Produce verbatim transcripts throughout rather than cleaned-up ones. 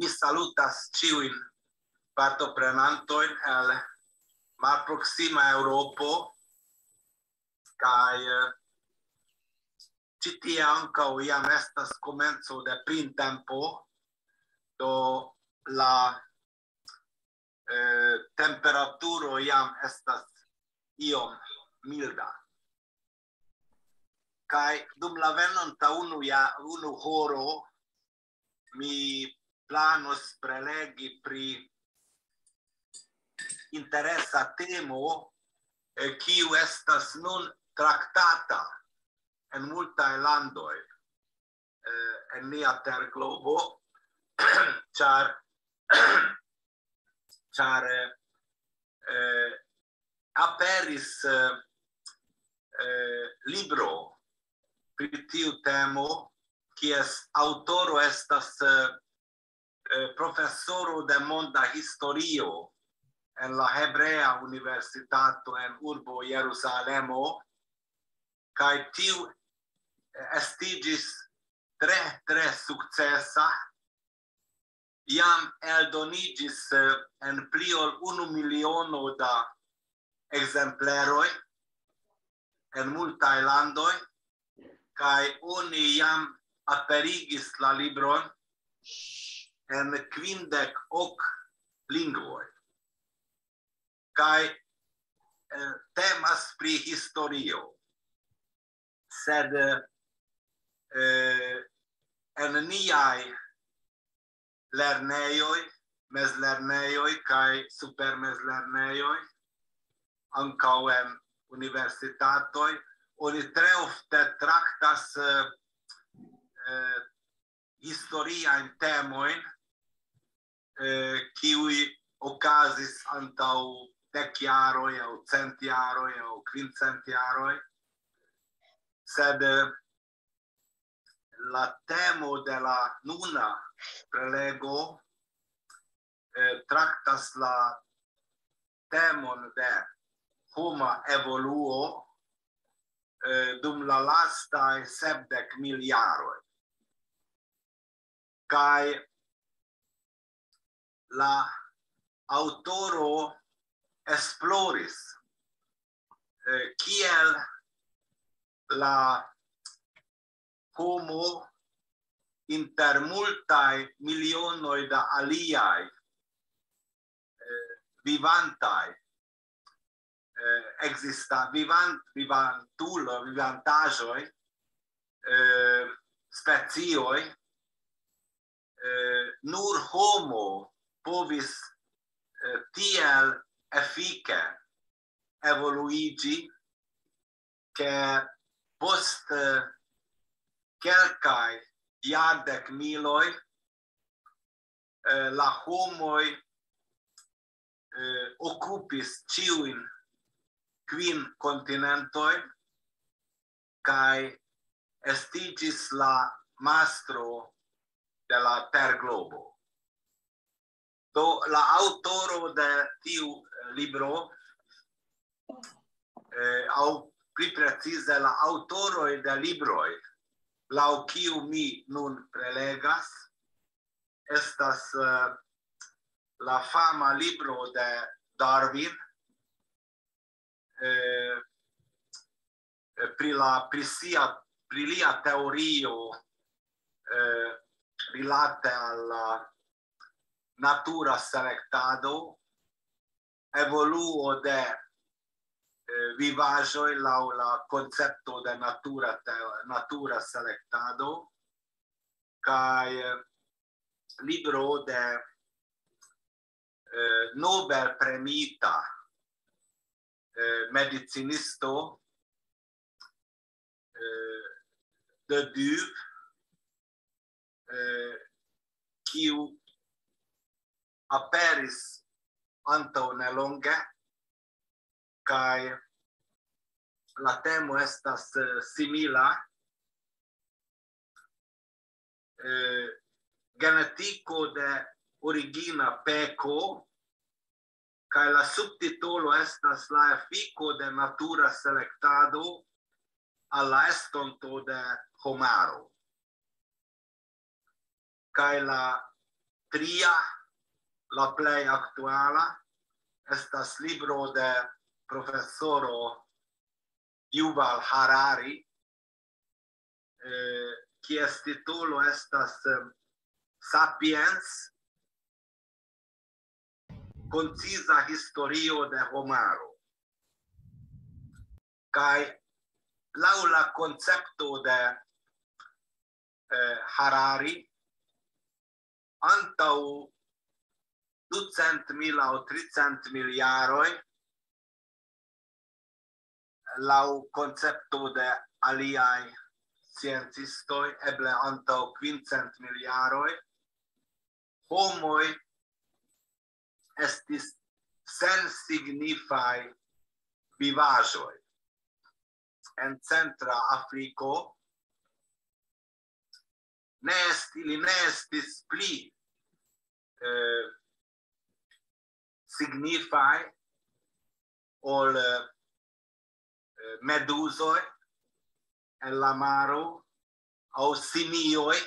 Mi salutas ĉiujn partoprenantojn el malproksima Eŭropo, kaj, eh, ĉi tie ankaŭ jam estas komenco de printempo, do la, eh, temperaturo jam estas iom milda. Kaj dum la venonta unu ja-, unu horo mi planos prelegi pri interesa temo, eh, kiu estas nun traktata en multaj landoj, eh, en nia terglobo, ĉar, ĉar, eh, eh, aperis, eh, eh, libro pri tiu temo, kies aŭtoro estas, eh, eh, profesoro de monda historio en la Hebrea Universitato en urbo Jerusalemo, kaj tiu estiĝis tre, tre sukcesa, jam eldoniĝis, eh, en pli ol unu miliono da ekzempleroj en multaj landoj, kaj oni jam aperigis la libron en kvindek ok lingvoj. Kaj, eh, temas pri historio. Sed, eh, en niaj lernejoj, mezlernejoj kaj supermezlernejoj, ankaŭ en universitatoj, oni tre ofte traktas, eh, eh, historiajn temojn, eh, kiuj okazis antaŭ dek jaroj aŭ cent jaroj aŭ kvin cent jaroj. Sed, eh, la temo de la nuna prelego, eh, traktas la temon de homa evoluo, eh, dum la lastaj sepdek mil jaroj. Kaj la aŭtoro esploris, eh, kiel la homo inter multaj milionoj da aliaj, eh, vivantaj, eh, ekzista-, vivant-, vivantulo, vivantaĵoj, eh, specioj, eh, nur homo povis, eh, tiel efike evoluiĝi, ke post, eh, kelkaj jardek miloj, eh, la homoj, eh, okupis ĉiujn kvin kontinentojn kaj estiĝis la mastro de la terglobo. Do, la aŭtoro de tiu, eh, libro, eh, aŭ pli precize la aŭtoroj de libroj, laŭ kiu mi nun prelegas, estas, eh, la fama libro de Darwin, eh, eh, pri la, pri sia, pri lia teorio, eh, rilate al la natura selektado, evoluo de, eh, vivaĵoj laŭ la koncepto de natura te-, natura selektado, kaj, eh, libro de, eh, Nobel premiita, eh, medicinisto, eh, de Duve, eh, kiu aperis antaŭ nelonge, kaj la temo estas, eh, simila, eh, genetiko de origina peko, kaj la subtitolo estas la efiko de natura selektado al la estonto de homaro. Kaj la tria, la plej aktuala, estas libro de profesoro Yuval Harari, eh, kies titolo estas, eh, Sapiens, konciza historio de homaro. Kaj laŭ la koncepto de, eh, Harari, antaŭ ducent mil aŭ tricent mil jaroj, laŭ koncepto de aliaj sciencistoj, eble antaŭ quince mil jaroj, homoj estis sensignifaj vivaĵoj. En Centra Afriko ne est-, ili ne estis pli, eh, signifaj ol, eh, meduzoj en la maro aŭ simioj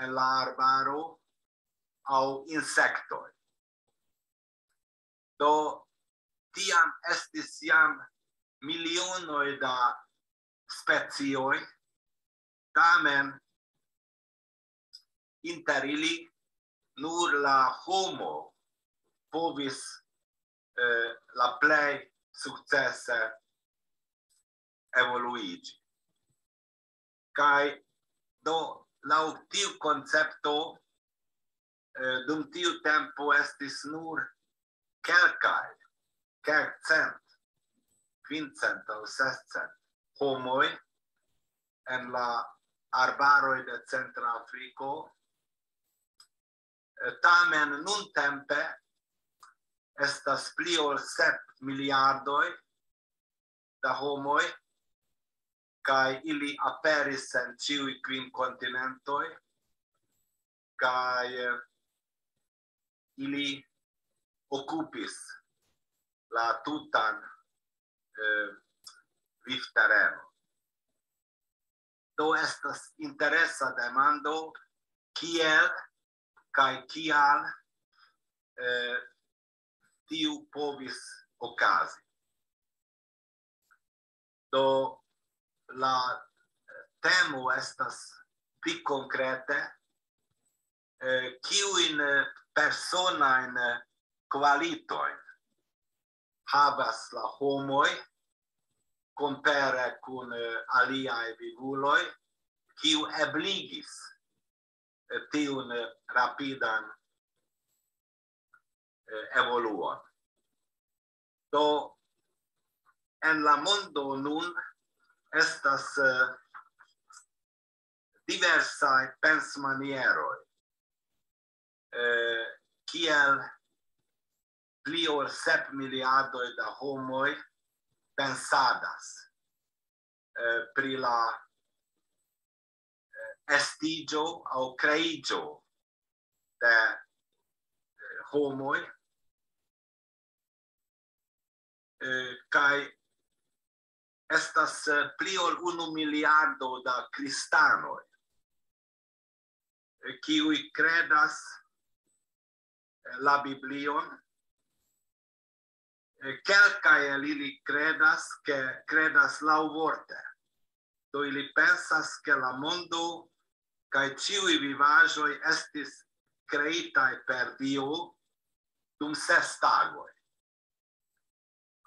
en la arbaro aŭ insektoj. Do tiam estis jam milionoj da specioj, tamen inter ili nur la homo povis, eh, la plej sukcese evoluiĝi. Kaj do laŭ tiu koncepto, eh, dum tiu tempo estis nur kelkaj, kelkcent, quince aŭ sescent homoj en la arbaroj de Centra Afriko. Eh, tamen nuntempe estas pli ol sep miliardoj da homoj, kaj ili aperis en ĉiuj kvin kontinentoj, kaj, eh, ili okupis la tutan, eh, vivtereno. Do estas interesa demando, kiel kaj kial, eh, tiu povis okazi. Do la temo estas pli konkrete, eh, kiujn, eh, personajn, eh, kvalitojn havas la homoj kompare kun, eh, aliaj vivuloj, kiu ebligis, eh, tiun, eh, rapidan, eh, evoluon. Do en la mondo nun estas, eh, diversaj pensmanieroj, eh, kiel pli ol sep miliardoj da homoj pensadas, eh, pri la, eh, estiĝo aŭ kreiĝo de, eh, homoj, eh, kaj estas, eh, pli ol unu miliardo da kristanoj, eh, kiuj kredas, eh, la Biblion. Eh, kelkaj el ili kredas, ke kredas laŭvorte. Do ili pensas, ke la mondo kaj ĉiuj vivaĵoj estis kreitaj per Dio dum ses tagoj.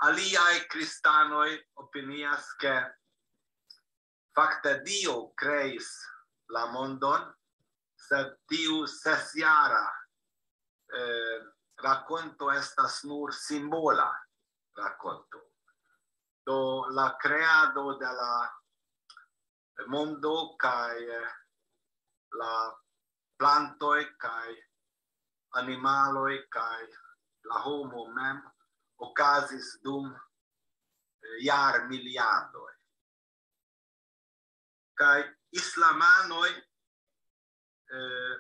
Aliaj kristanoj opinias, ke fakte Dio kreis la mondon, sed tiu sesjara, eh, rakonto estas nur simbola rakonto. Do la kreado de la mondo kaj, eh, la plantoj kaj animaloj kaj la homo mem okazis dum, eh, jarmiliardoj. Kaj islamanoj, eh,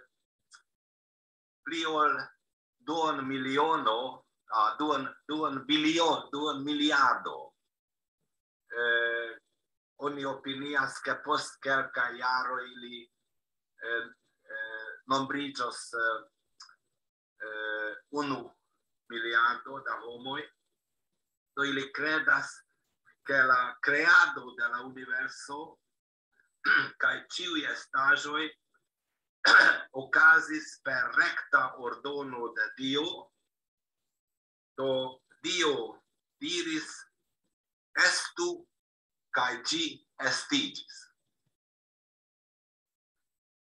pli ol duon miliono, ah, duon, duon bilio-, duon miliardo. Eh, oni opinias, ke post kelkaj jaroj ili, eh, eh, nombriĝos eh, eh, unu miliardo da homoj, do ili kredas, ke la kreado de la universo kaj ĉiuj estaĵoj okazis per rekta ordono de Dio. Do Dio diris: "Estu", kaj ĝi estiĝis.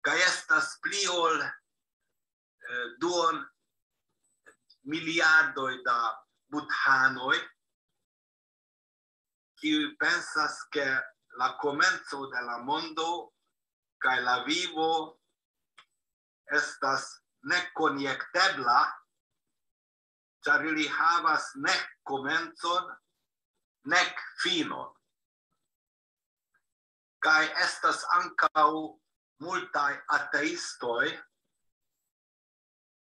Kaj estas pli ol eh, duon miliardoj da budhanoj, kiuj pensas, ke la komenco de la mondo kaj la vivo estas nekonjektebla, ĉar ili havas nek komencon, nek finon. Kaj estas ankaŭ multaj ateistoj,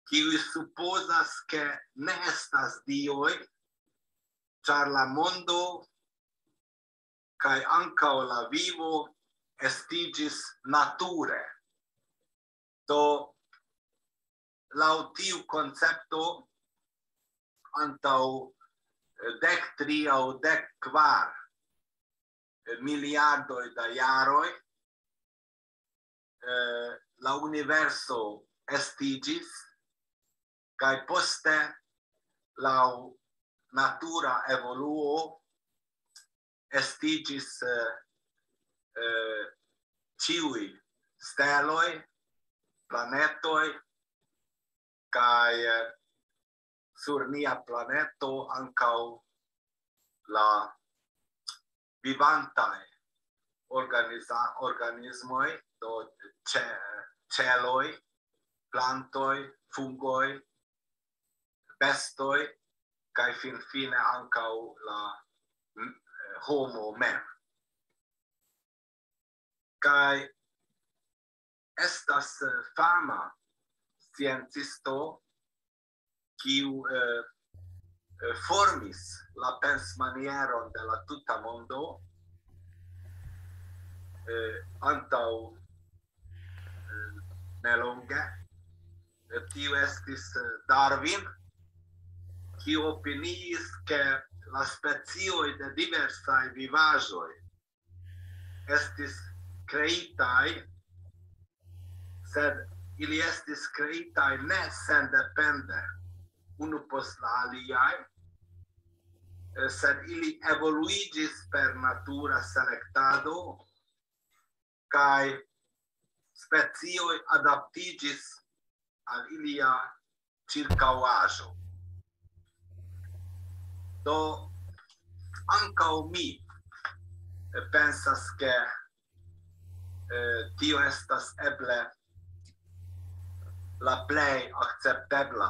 kiuj supozas, ke ne estas dioj, ĉar la mondo kaj ankaŭ la vivo estiĝis nature. Do, laŭ tiu koncepto, antaŭ eh, dek tri aŭ dek kvar miliardoj da jaroj, eh, la universo estiĝis, kaj poste, laŭ natura evoluo, estiĝis eh, eh, ĉiuj steloj, planetoj, kaj eh, sur nia planeto ankaŭ la vivantaj organiza-, organismoj, do ĉe-, ĉeloj, plantoj, fungoj, bestoj, kaj finfine ankaŭ la mm, homo mem. Kaj estas eh, fama sciencisto, kiu eh, eh, formis la pensmanieron de la tuta mondo eh, antaŭ eh, nelonge. Eh, Tiu estis eh, Darwin, kiu opiniis, ke la specioj de diversaj vivaĵoj estis kreitaj, sed ili estis kreitaj ne sendepende unu post la aliaj, eh, sed ili evoluiĝis per natura selektado, kaj specioj adaptiĝis al ilia ĉirkaŭaĵo. Do, ankaŭ mi eh, pensas, ke eh, tio estas eble la plej akceptebla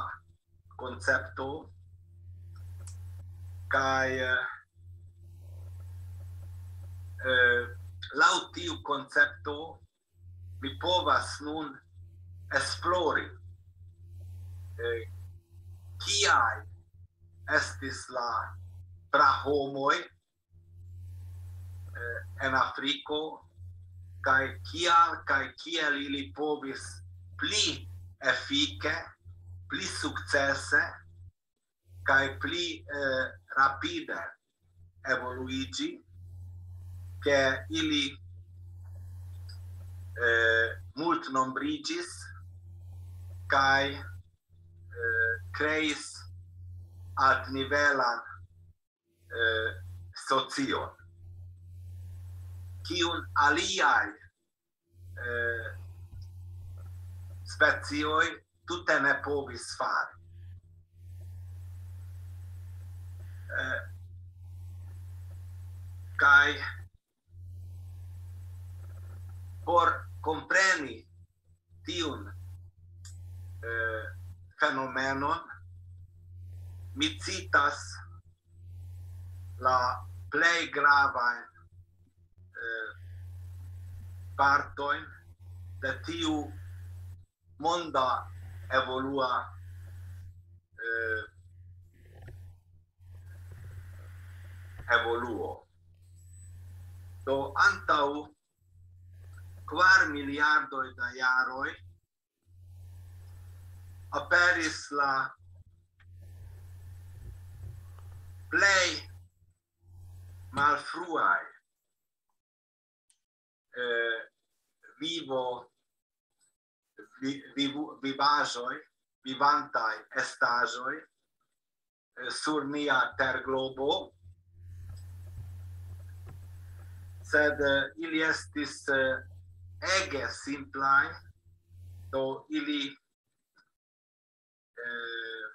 koncepto, kaj eh, eh, laŭ tiu koncepto mi povas nun esplori eh, kiaj estis la prahomoj eh, en Afriko, kaj kial kaj kiel ili povis pli efike, pli sukcese kaj pli eh, rapide evoluiĝi, ke ili eh, multnombriĝis kaj eh, kreis altnivelan eh, socion, kiun aliaj eh, specioj tute ne povis fari. Eh, kaj por kompreni tiun eh, fenomenon, mi citas la plej gravajn eh, partojn de tiu monda evolua eh, evoluo. Do antaŭ kvar miliardoj da jaroj aperis la plej malfruaj eh, vivo, vi, vivu, vivaĵoj, vivantaj estaĵoj eh, sur nia terglobo, sed eh, ili estis eh, ege simplaj, do ili eh,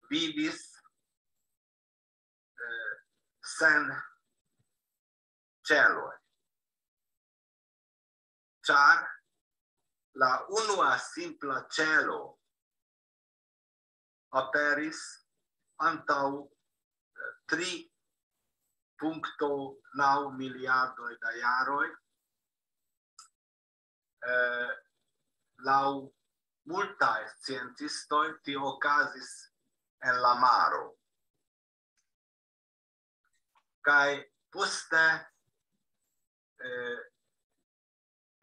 vivis eh, sen ĉeloj. Ĉar la unua simpla ĉelo aperis antaŭ eh, tri punkto naŭ miliardoj da jaroj. Eh, laŭ multaj sciencistoj tio okazis en la maro. Kaj poste eh,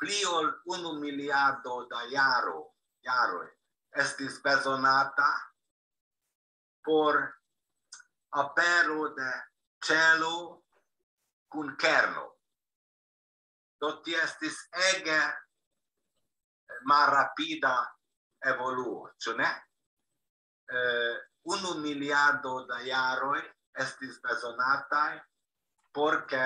pli ol unu miliardo da jaro, jaroj estis bezonata por apero de ĉelo kun kerno. Do tio estis ege malrapida evoluo, ĉu ne? Eh, unu miliardo da jaroj estis bezonataj por ke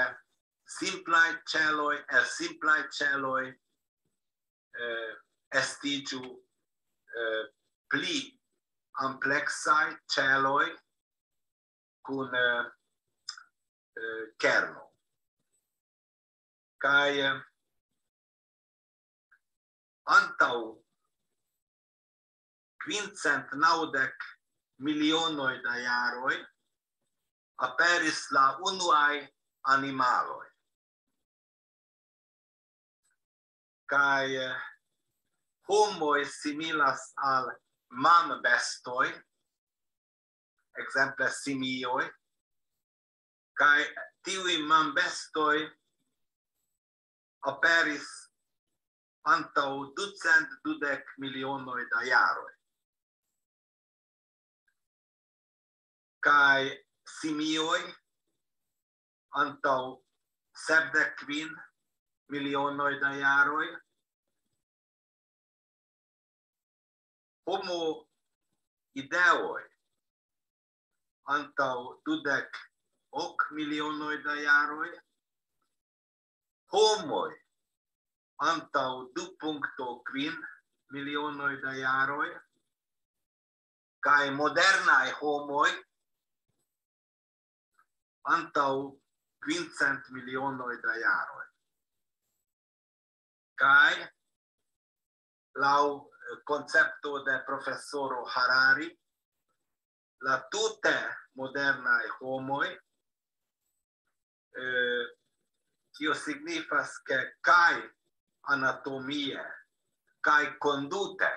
simplaj ĉeloj, el simplaj ĉeloj eh, estiĝu eh, pli ampleksaj ĉeloj kun eh, eh, kerno. Kaj eh, antaŭ kvincent naŭdek milionoj da jaroj aperis la unuaj animaloj. Kaj eh, homoj similas al manbestoj, ekzemple simioj, kaj tiuj manbestoj aperis antaŭ ducent dudek milionoj da jaroj. Kaj simioj antaŭ sepdek kvin milionoj da jaroj. Homo ideoj antaŭ dudek ok milionoj da jaroj. Homoj antaŭ du punkto kvin milionoj da jaroj. Kaj modernaj homoj antaŭ kvincent milionoj da jaroj. Kaj laŭ eh, koncepto de profesoro Harari, la tute modernaj homoj, eh, tio signifas, ke kaj anatomie, kaj kondute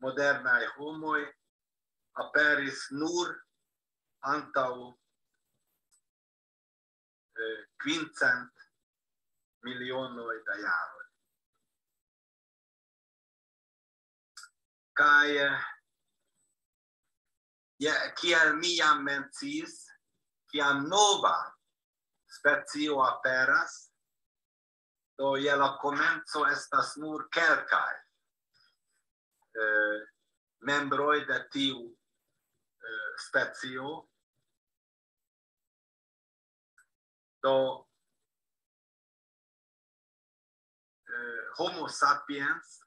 modernaj homoj aperis nur antaŭ eh, kvincent milionoj da jaroj. Kaj eh, je, kiel mi jam menciis, kiam nova specio aperas, do je la komenco estas nur kelkaj eh, membroj de tiu eh, specio. Do eh, Homo sapiens,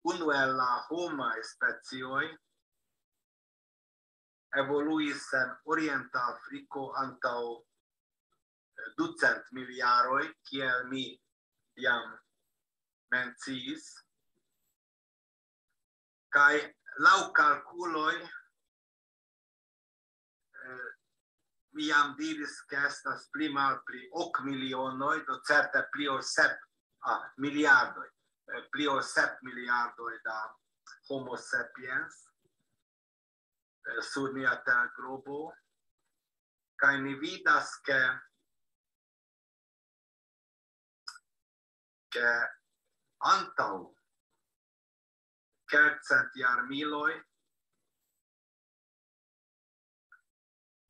unu el la homaj specioj, evoluis en Orienta Afriko antaŭ eh, ducent miljaroj, kiel mi jam menciis. Kaj laŭ kalkuloj, eh, mi jam diris, ke estas pli malpli ok milionoj, do certe pli ol sep ah, miliardoj, eh, pli ol sep miliardoj da Homo sapiens eh, sur nia terglobo. Kaj ni vidas, ke, ke Antaŭ kelkcent jarmiloj,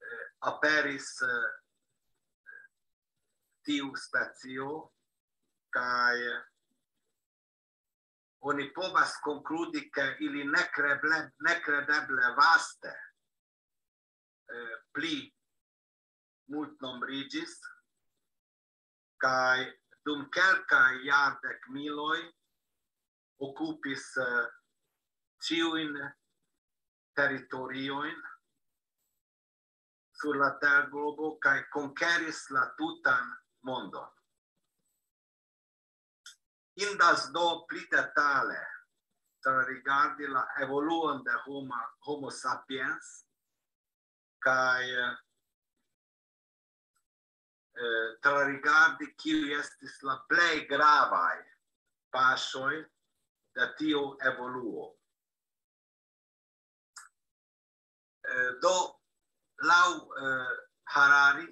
eh, aperis, eh, tiu specio, kaj oni povas konkludi, ke ili nekreble-, nekredeble vaste, eh, pli multnombriĝis, kaj dum kelkaj jardekmiloj okupis, eh, ĉiujn teritoriojn sur la terglobo kaj konkeris la tutan mondon. Indas do pli detale rigardi la evoluon de homa, Homo sapiens, kaj, eh, trarigardi kiuj estis la plej gravaj paŝoj de tiu evoluo. Eh, do, laŭ, eh, Harari,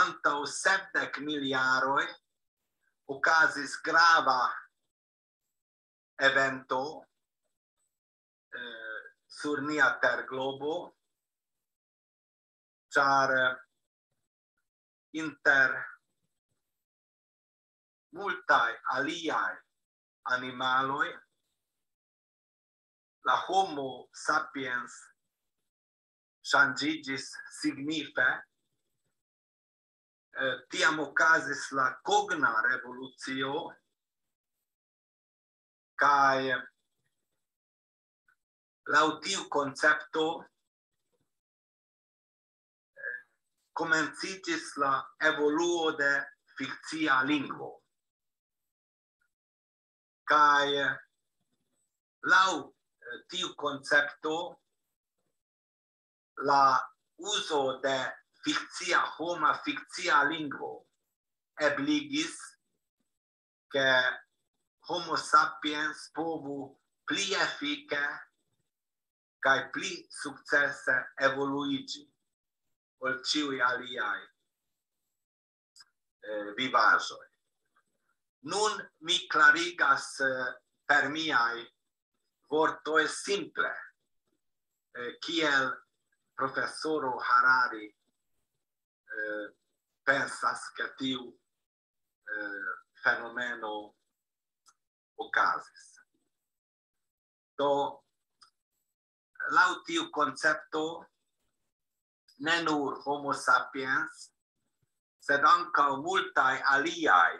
antaŭ sepdek mil jaroj okazis grava evento, eh, sur nia terglobo, ĉar, eh, inter multaj aliaj animaloj la Homo sapiens ŝanĝiĝis signife. Eh, tiam okazis la kogna revolucio, kaj laŭ tiu koncepto, eh, komenciĝis la evoluo de fikcia lingvo. Kaj, eh, laŭ, eh, tiu koncepto, la uzo de fikcia, homa fikcia lingvo ebligis, ke Homo sapiens povu pli efike kaj pli sukcese evoluiĝi ol ĉiuj aliaj, eh, vivaĵoj. Nun mi klarigas, eh, per miaj vortoj simple, eh, kiel profesoro Harari, eh, pensas, ke tiu, eh, fenomeno okazis. Do, laŭ tiu koncepto, ne nur Homo sapiens, sed ankaŭ multaj aliaj,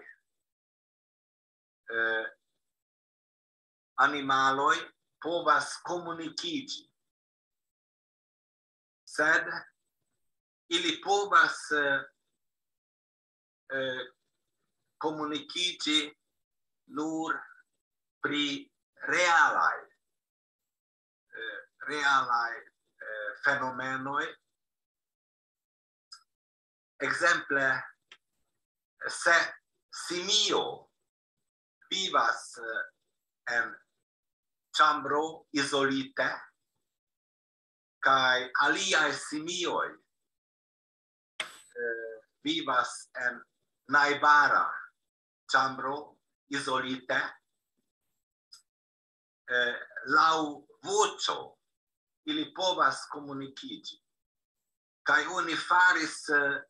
eh, animaloj povas komunikiĝi. Sed ili povas, eh, eh, komunikiĝi nur pri realaj, eh, realaj, eh, fenomenoj. Ekzemple, se simio vivas, eh, en ĉambro izolite, kaj aliaj simioj, eh, vivas en najbara ĉambro izolite, eh, laŭ voĉo ili povas komunikiĝi. Kaj oni faris, eh,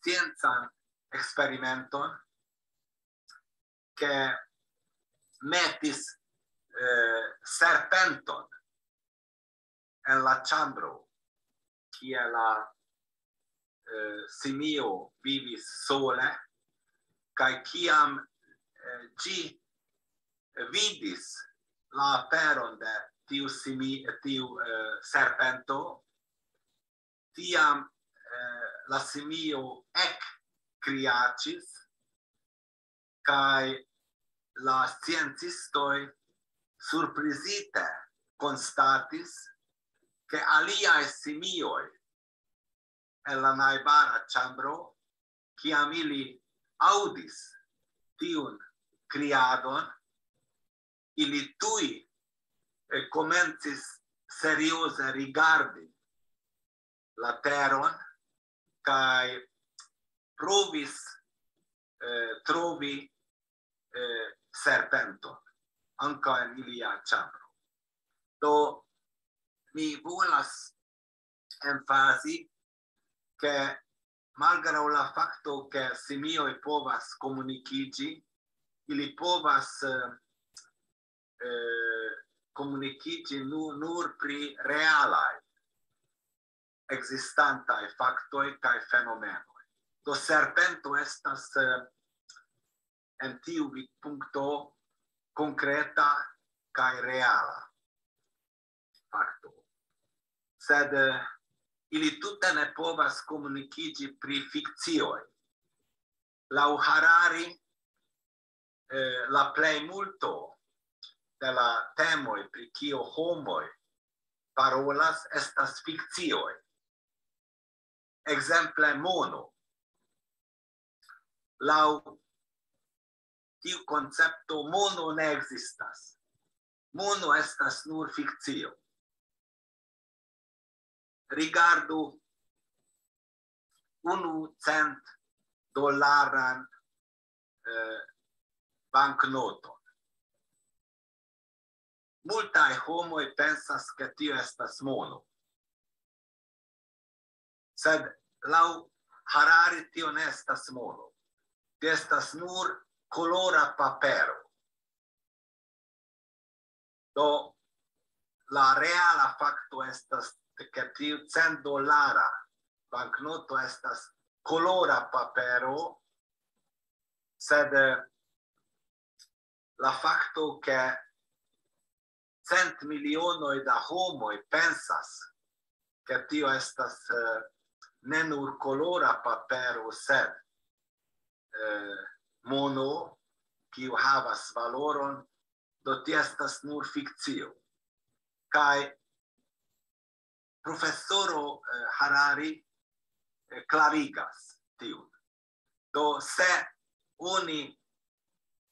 sciencan eksperimenton, ke metis, eh, serpenton en la ĉambro, kie la, eh, simio vivis sole, kaj kiam, eh, ĝi vidis la aperon de tiu simi-, tiu, eh, serpento, tiam, eh, la simio ekkriaĉis, kaj la sciencistoj surprizite konstatis, ke aliaj simioj en la najbara ĉambro, kiam ili aŭdis tiun kriadon, ili tuj, eh, komencis serioze rigardi la teron kaj provis, eh, trovi, eh, serpenton, ankaŭ en ilia ĉambro. Do, mi volas emfazi, ke malgraŭ la fakto, ke simioj povas komunikiĝi, ili povas, eh, eh, komunikiĝi nu-, nur pri realaj ekzistantaj faktoj kaj fenomenoj. Do serpento estas, eh, en tiu vidpunkto konkreta kaj reala fakto. Sed, eh, ili tute ne povas komunikiĝi pri fikcioj. Laŭ Harari, eh, la plejmulto de la temoj, pri kio homoj parolas, estas fikcioj. Ekzemple, mono. Laŭ tiu koncepto, mono ne ekzistas. Mono estas nur fikcio. Rigardu unu cent dolaran, eh, banknoton. Multaj homoj pensas, ke tio estas mono. Sed laŭ Harari tio ne estas mono. Tio estas nur kolora papero. Do, la reala fakto estas, ke tiu cent dolara banknoto estas kolora papero, sed, eh, la fakto, ke cent milionoj da homoj pensas, ke tio estas, eh, ne nur kolora papero, sed, eh, mono, kiu havas valoron, do tio estas nur fikcio. Kaj profesoro, eh, Harari, eh, klarigas tiun. Do, se oni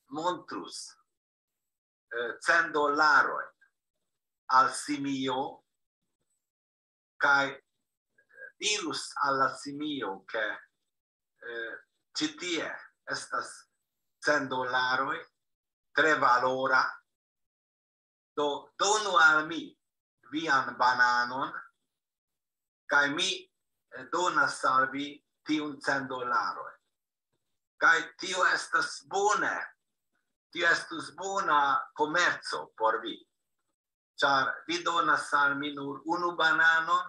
montrus, eh, cent dolarojn al simio, kaj dirus al la simio, ke, eh, ĉi tie estas cent dolaroj, tre valora, do donu al mi vian bananon, kaj mi, eh, donas al vi tiun cent dolaroj. Kaj tio estas bone, tio estus bona komerco por vi, ĉar vi donas al mi nur unu bananon,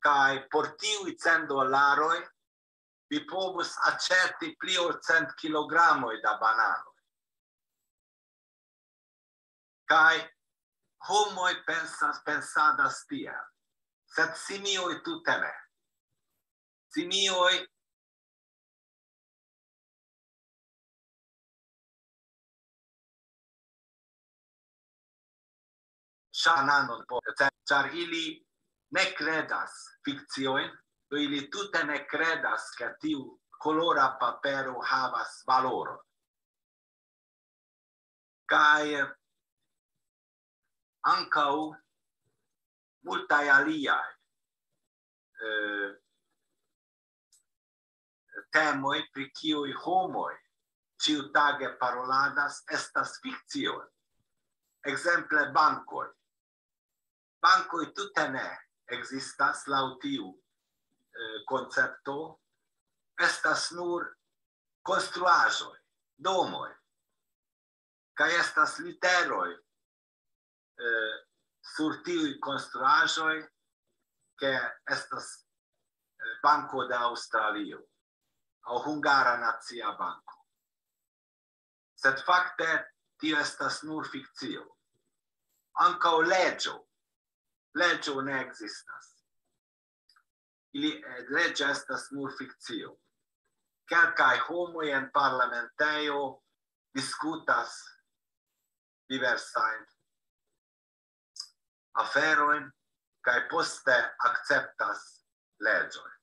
kaj por tiuj cent dolaroj vi povus aĉeti pli ol cent kilogramoj da bananoj. Kaj homoj pensas, pensadas tiel, sed simioj tute ne. Simioj ŝananon, po-, ĉar ili ne kredas fikciojn, do ili tute ne kredas, ke tiu kolora papero havas valoron. Kaj ankaŭ multaj aliaj, eh, temoj, pri kiuj homoj ĉiutage paroladas, estas fikcioj. Ekzemple, bankoj. Bankoj tute ne ekzistas laŭ tiu, eh, koncepto. Estas nur konstruaĵoj, domoj. Kaj estas literoj, eh, sur tiuj konstruaĵoj, ke estas, eh, Banko de Aŭstralio aŭ Hungara Nacia Banko. Sed fakte tio estas nur fikcio. Ankaŭ leĝo. Leĝo ne ekzistas. Ili, eh, leĝo estas nur fikcio. Kelkaj homoj en parlamentejo diskutas diversajn aferojn kaj poste akceptas leĝojn.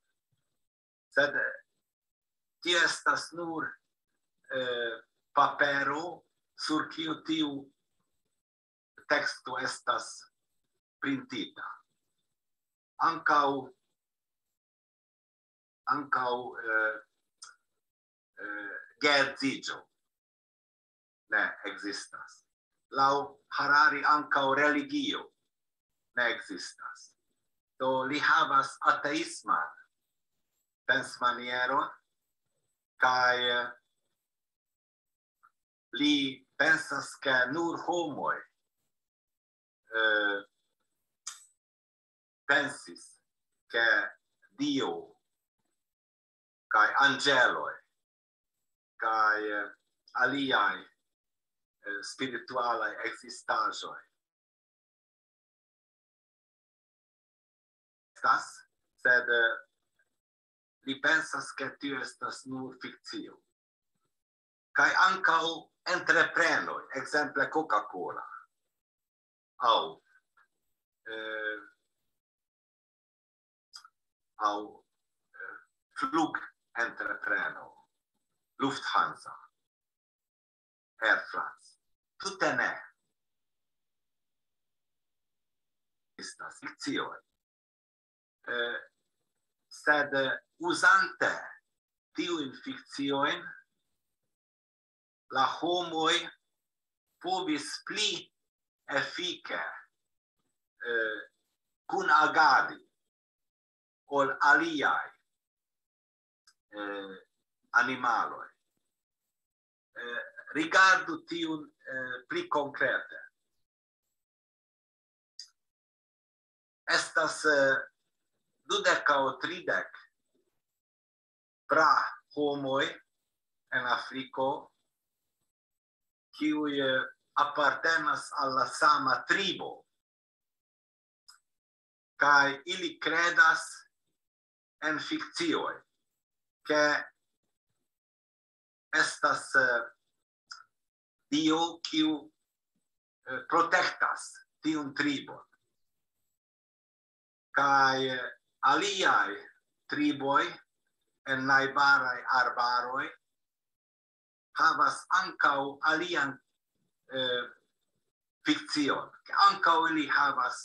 Sed, eh, tio estas nur, eh, papero, sur kiu tiu teksto estas printita. Ankaŭ, ankaŭ, eh, geedziĝo ne ekzistas. Laŭ Harari ankaŭ religio ne ekzistas. Do li havas ateisman pensmanieron kaj li pensas, ke nur homoj eh, pensis, ke Dio kaj anĝeloj kaj eh, aliaj eh, spiritualaj ekzistaĵoj estas, sed eh, li pensas, ke tio estas nur fikcio. Kaj ankaŭ entreprenoj, ekzemple Coca-Cola, aŭ eh, aŭ eh, flugentreprenoj, Lufthansa, Air France. Tute ne. Estas fikcioj. Eh, sed eh, uzante tiujn fikciojn, la homoj povis pli efike eh, kunagadi ol aliaj eh, animaloj. Eh, rigardu tiun eh, pli konkrete. Estas eh, dudek aŭ tridek pra homoj en Afriko, kiuj eh, apartenas al la sama tribo, kaj ili kredas en fikcioj, ke estas eh, Dio, kiu eh, protektas tiun tribon. Kaj eh, aliaj triboj en najbaraj arbaroj havas ankaŭ alian eh, fikcion, ke ankaŭ ili havas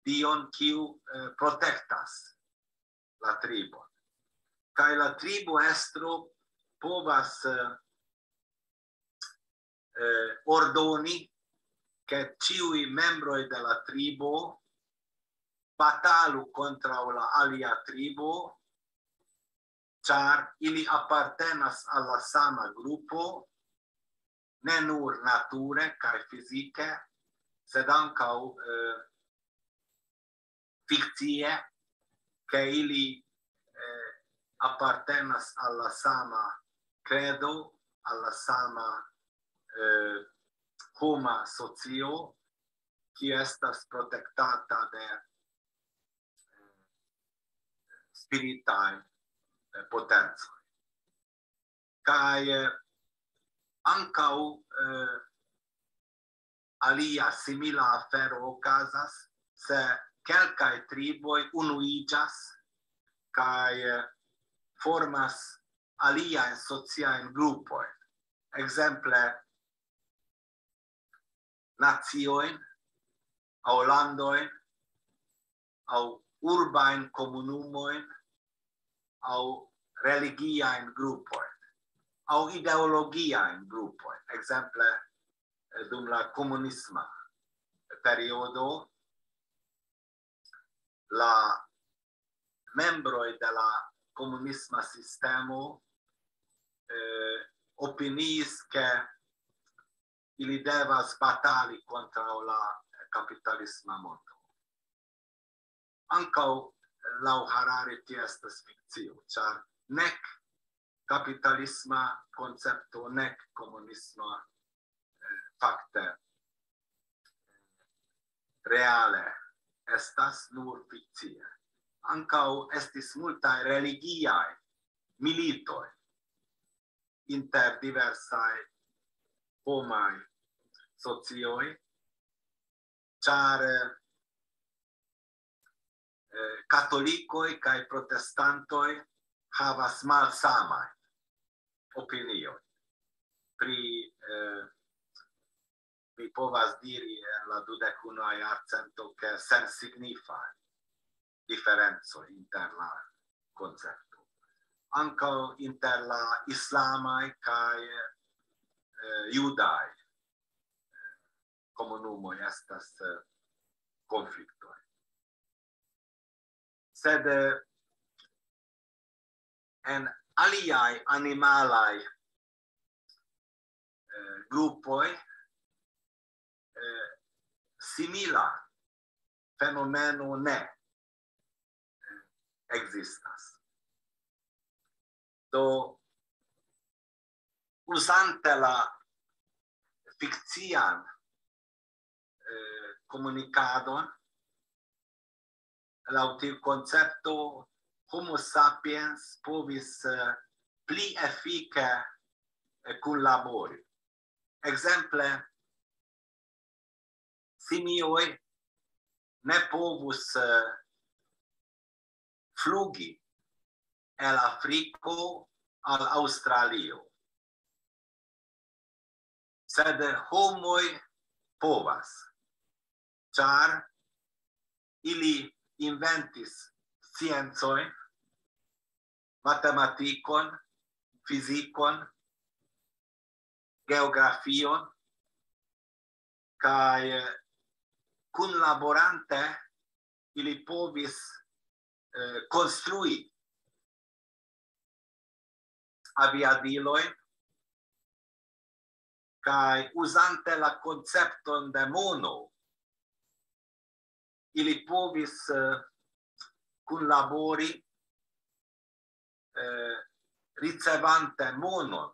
Dion, kiu eh, protektas la tribon. Kaj la tribo estro povas eh, eh, ordoni, ke ĉiuj membroj de la tribo batalu kontraŭ la alia tribo, ĉar ili apartenas al la sama grupo, ne nur nature kaj fizike, sed ankaŭ eh, fikcie, ke ili eh, apartenas al la sama kredo, al la sama eh, homa socio, kiu estas protektata de eh, spiritaj eh, potencoj. Kaj eh, ankaŭ eh, alia simila afero okazas, se kelkaj triboj unuiĝas kaj eh, formas aliajn sociajn grupojn. Ekzemple, naciojn aŭ landojn aŭ urbajn komunumojn aŭ religiajn grupojn aŭ ideologiajn grupojn. Ekzemple, eh, dum la komunisma periodo, la membroj de la komunisma sistemo eh, opiniis, ke ili devas batali kontraŭ la kapitalisma mondo. Ankaŭ laŭ Harari tio estas fikcio, ĉar nek kapitalisma koncepto, nek komunisma eh, fakte reale estas nur fikcie. Ankaŭ estis multaj religiaj militoj inter diversaj homaj socioj, ĉar eh, katolikoj kaj protestantoj havas malsamajn opiniojn pri eh, mi povas diri en la dudek unua jarcento, ke sensignifaj diferencoj inter la koncepto. ankaŭ inter la islamaj kaj, eh, judaj komunumoj estas, eh, konfliktoj. Sed, eh, en aliaj animalaj, eh, grupoj, eh, simila fenomeno ne, eh, ekzistas. Do, uzante la fikcian, eh, komunikadon, laŭ tiu koncepto Homo sapiens povis, eh, pli efike, eh, kunlabori. Ekzemple, simioj ne povus, eh, flugi el Afriko al Aŭstralio. Sed homoj povas, ĉar ili inventis sciencojn, matematikon, fizikon, geografion, kaj, eh, kunlaborante ili povis, eh, konstrui aviadilojn, kaj uzante la koncepton de mono, ili povis, eh, kunlabori, eh, ricevante monon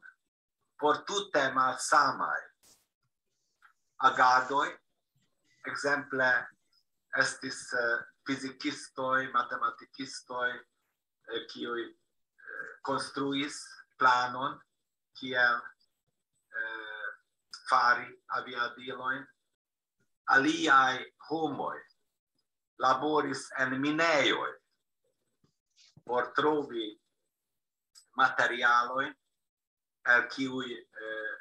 por tute malsamaj agadoj. Ekzemple, estis, eh, fizikistoj, matematikistoj, eh, kiuj, eh, konstruis planon, kiel, eh, fari aviadilojn. Aliaj homoj laboris en minejoj por trovi materialojn, el kiuj, eh,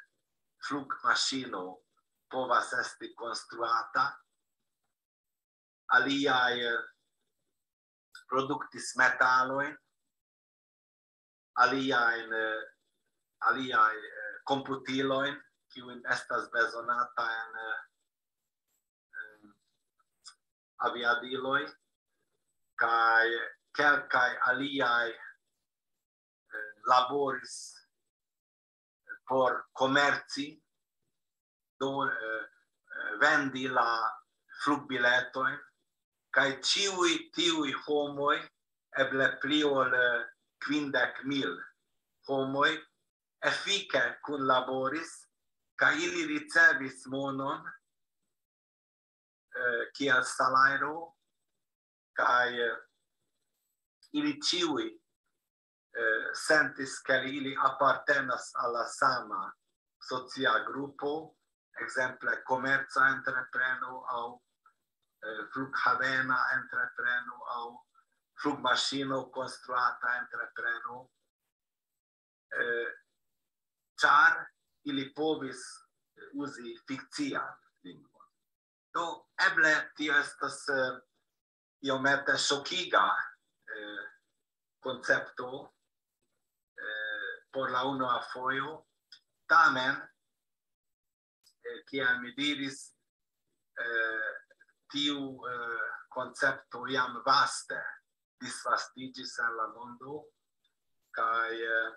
flugmaŝino povas esti konstruata. Aliaj, eh, produktis metalojn, aliajn, eh, aliaj, eh, komputilojn, kiujn estas bezonata en, eh, en aviadiloj, kaj kelkaj aliaj, eh, laboris por komerci, do, eh, eh, vendi la flugbiletojn, kaj ĉiuj tiuj homoj, eble pli ol, eh, kvindek mil homoj, efike kunlaboris, kaj ili ricevis monon, eh, kiel salajro, kaj, eh, ili ĉiuj, eh, sentis, ke ili apartenas al la sama socia grupo, ekzemple komerca entrepreno aŭ, eh, flughavena entrepreno aŭ flugmaŝino konstruata entrepreno, eh, ĉar ili povis uzi fikcian lingvon. Do, eble tio estas, eh, iomete ŝokiga, eh, koncepto, eh, por la unua fojo. Tamen, eh, kiel mi diris, eh, tiu, eh, koncepto jam vaste disvastiĝis en la mondo, kaj, eh,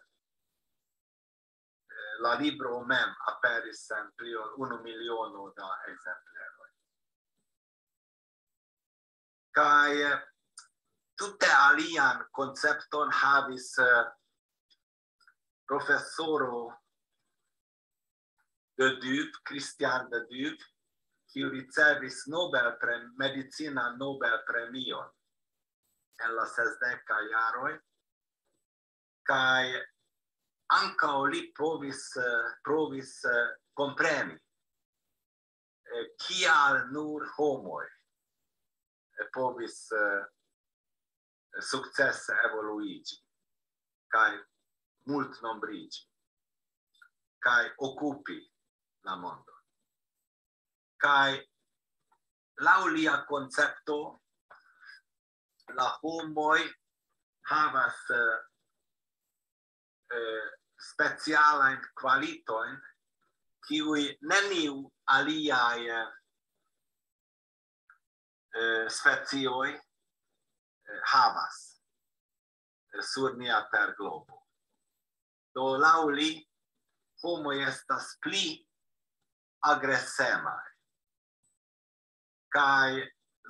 eh, la libro mem aperis en pli ol unu miliono da ekzempleroj. Kaj, eh, tute alian koncepton havis, eh, profesoro de Duve, Christian de Duve, kiu ricevis Nobel pre-, medicina Nobel premion en la sesdeka jaroj, kaj ankaŭ li provis, eh, provis, eh, kompreni, eh, kial nur homoj, eh, povis, eh, sukcese evoluiĝi kaj multnombriĝi kaj okupi la mondon. Kaj laŭ lia koncepto, la homoj havas, eh, eh, specialajn kvalitojn, kiuj neniu aliaj, eh, specioj, eh, havas, eh, sur nia terglobo. Do, laŭ li, homoj estas pli agresemaj, kaj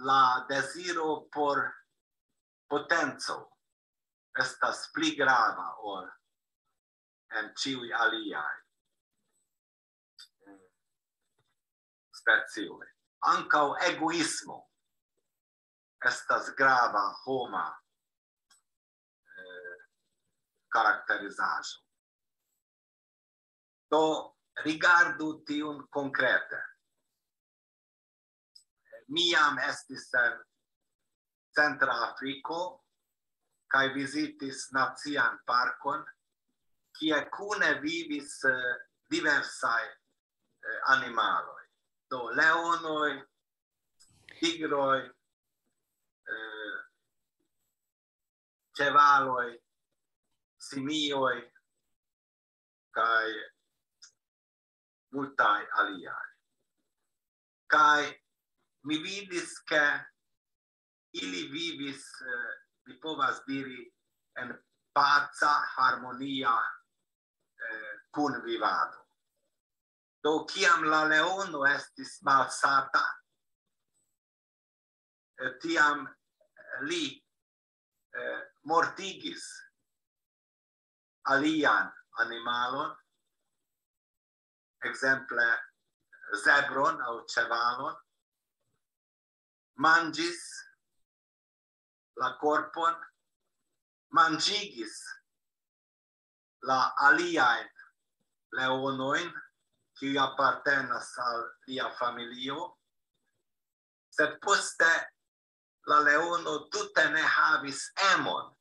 la deziro por potenco estas pli grava ol en ĉiuj aliaj, eh, specioj. Ankaŭ egoismo estas grava homa, eh, karakterizaĵo. Do, rigardu tiun konkrete. Mi jam estis en Centra Afriko kaj vizitis nacian parkon, kie kune vivis, eh, diversaj, eh, animaloj. Do, leonoj, tigroj, eh, ĉevaloj, simioj kaj multaj aliaj. Kaj mi vidis, ke ili vivis, eh, mi povas diri, en paca, harmonia, eh, kunvivado. Do, kiam la leono estis malsata, eh, tiam li, eh, mortigis alian animalon, ekzemple zebron aŭ ĉevalon, manĝis la korpon, manĝigis la aliajn leonojn, kiuj apartenas al lia familio, sed poste la leono tute ne havis emon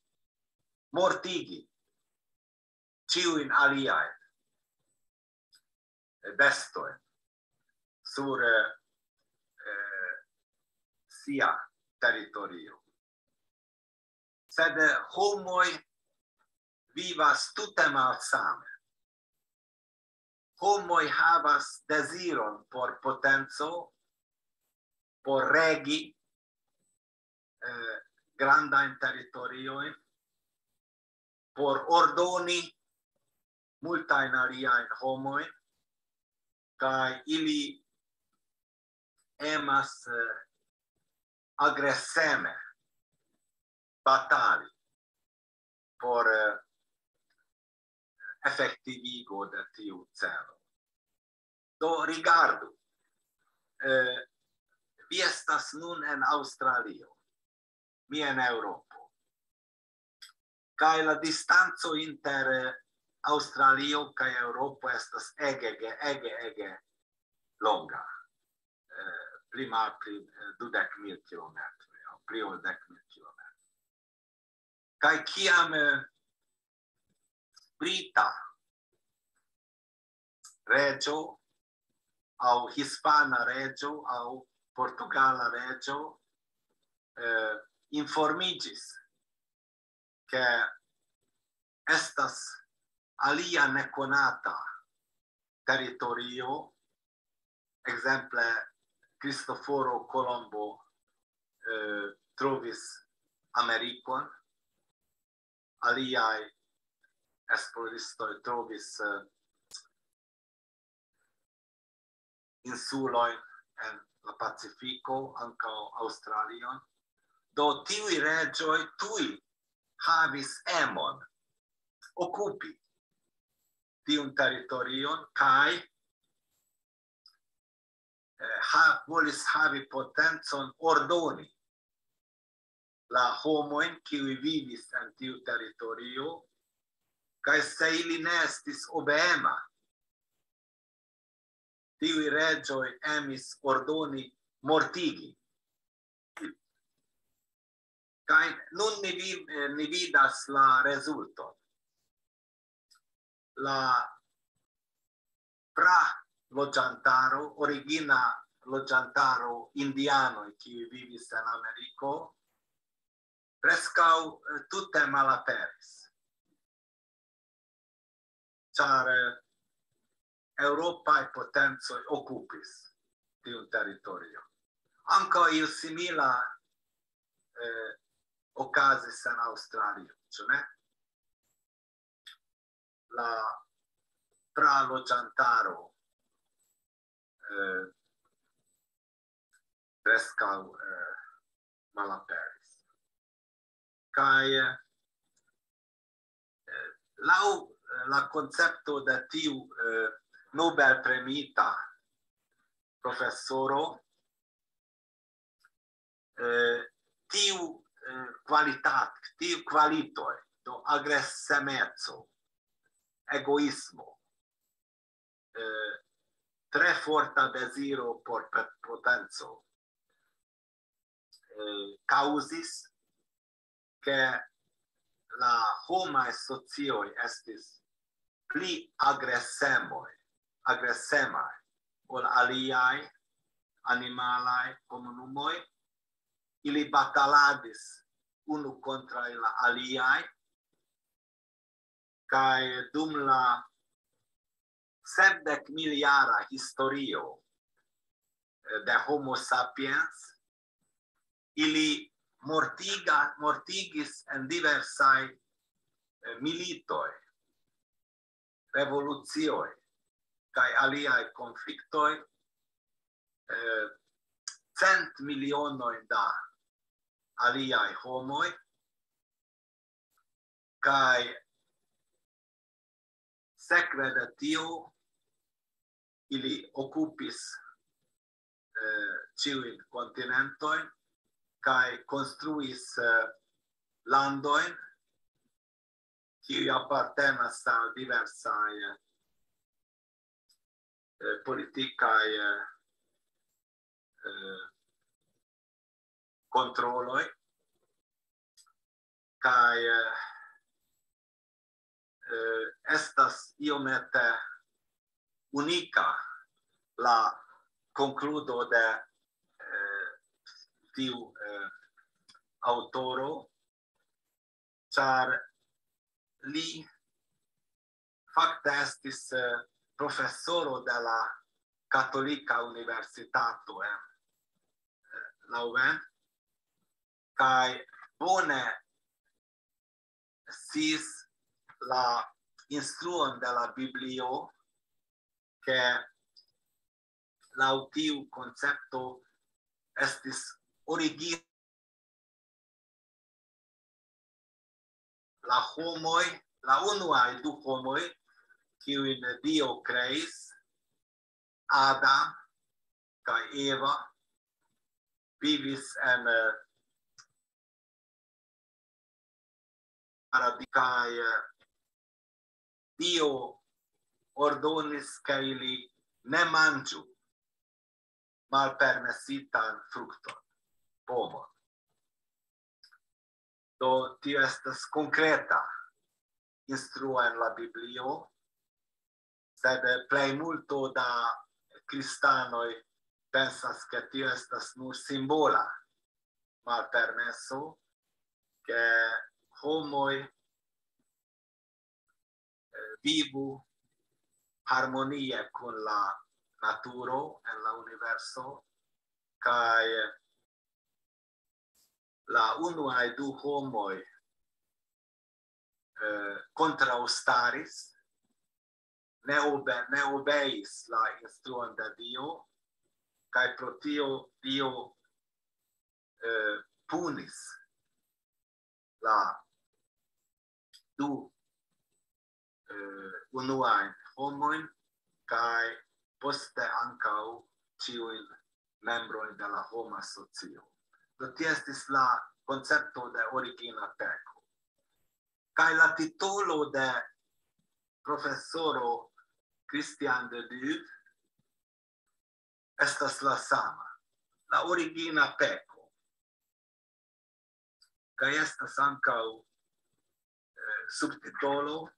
mortigi ĉiujn aliajn bestojn sur, eh, sia teritorio. Sed, eh, homoj vivas tute malsame. Homoj havas deziron por potenco, por regi, eh, grandajn teritoriojn, por ordoni multajn aliajn homojn, kaj ili emas, eh, agreseme batali por, eh, efektivigo de tiu celo. Do, rigardu, eh, vi estas nun en Aŭstralio, mi en Eŭropo. Kaj la distanco inter, eh, Aŭstralio kaj Eŭropo estas ege, ege, ege, ege longa. Eh, pli malpli, eh, dudek mil kilometroj, aŭ pli ol dek mil kilometroj. Kaj kiam, eh, brita reĝo aŭ hispana reĝo aŭ portugala reĝo, eh, informiĝis, ke estas alia nekonata teritorio, ekzemple, Kristoforo Kolombo, eh, trovis Amerikon, aliaj esploristoj trovis, eh, insulojn en la Pacifiko, ankaŭ Aŭstralion. Do, tiuj reĝoj tuj havis emon okupi tiun teritorion kaj, eh, ha-, volis havi potencon ordoni la homojn, kiuj vivis en tiu teritorio, kaj se ili ne estis obeema, tiuj reĝoj emis ordoni mortigi. Kaj nun ni vi-, eh, ni vidas la rezulton. La pra loĝantaro, origina loĝantaro, indianoj, kiuj vivis en Ameriko, preskaŭ, eh, tute malaperis. ĉar, eh, eŭropaj potencoj okupis tiun teritorion. Ankaŭ io simila, eh, okazis en Aŭstralio, ĉu ne? La praloĝantaro, eh, preskaŭ, eh, malaperis. Kaj, eh, laŭ, eh, la koncepto de tiu, eh, Nobel-premiita profesoro, eh, tiu, eh, kvalitat-, tiu kvalitoj, do agresemeco, egoismo, eh, tre forta deziro por pe-, potenco, eh, kaŭzis, ke la homaj socioj estis pli agresemoj, agresemaj ol aliaj animalaj komunumoj. Ili bataladis unu kontraŭ la aliaj, kaj dum la sepdek miljara historio, eh, de Homo sapiens, ili mortiga-, mortigis en diversaj, eh, militoj, revolucioj kaj aliaj konfliktoj, eh, cent milionoj da aliaj homoj, kaj sekve de tio ili okupis, eh, ĉiujn kontinentojn kaj konstruis, eh, landojn, kiuj apartenas al diversaj, eh, politikaj, eh, eh, kontroloj, kaj, eh, eh, estas iomete unika la konkludo de, eh, tiu, eh, aŭtoro, ĉar li fakte estis, eh, profesoro de la Katolika Universitato en, eh, Leuven, kaj bone sciis la instruon de la Biblio, ke laŭ tiu koncepto estis origino la homoj, la unuaj du homoj, kiujn Dio kreis, Adam kaj Eva, vivis en, eh, paradi-, kaj, eh, Dio ordonis, ke ili ne manĝu malpermesitan frukton, pomon. Do, tio estas konkreta instruo en la Biblio, sed plejmulto da kristanoj pensas, ke tio estas nur simbola malpermeso, ke homoj, eh, vivu harmonie kun la naturo en la universo, kaj la unuaj du homoj, eh, kontraŭstaris, ne obe-, ne obeis la instruon de Dio, kaj pro tio Dio, eh, punis la du, eh, unuajn homojn, kaj poste ankaŭ ĉiujn membrojn de la homa socio. Do, tio estis la koncepto de origina peko. Kaj la titolo de profesoro Christian de Duve estas la sama, la origina peko. Kaj estas ankaŭ, eh, subtitolo: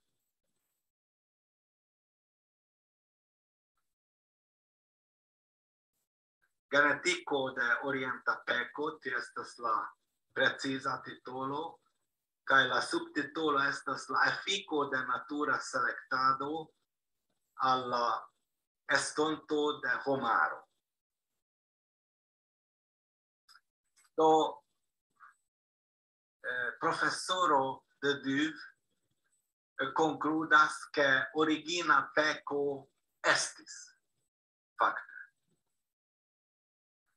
Genetiko de orienta peko, tio estas la preciza titolo, kaj la subtitolo estas la efiko de natura selektado al la estonto de homaro. Do, eh, profesoro de Duve, eh, konkludas, ke origina peko estis, fakte.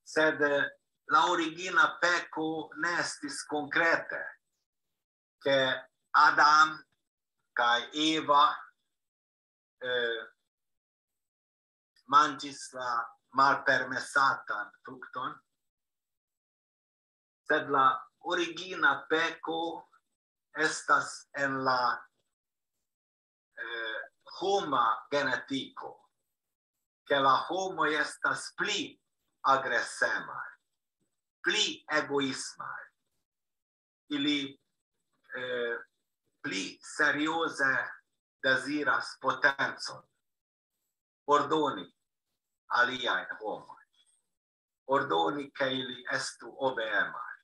Sed, eh, la origina peko ne estis konkrete, ke Adam kaj Eva, eh, manĝis la malpermesatan frukton, sed la origina peko estas en la, eh, homa genetiko, ke la homoj estas pli agresemaj, pli egoismaj, ili, eh, pli serioze deziras potencon, ordoni aliajn homojn, ordoni, ke ili estu obeemaj,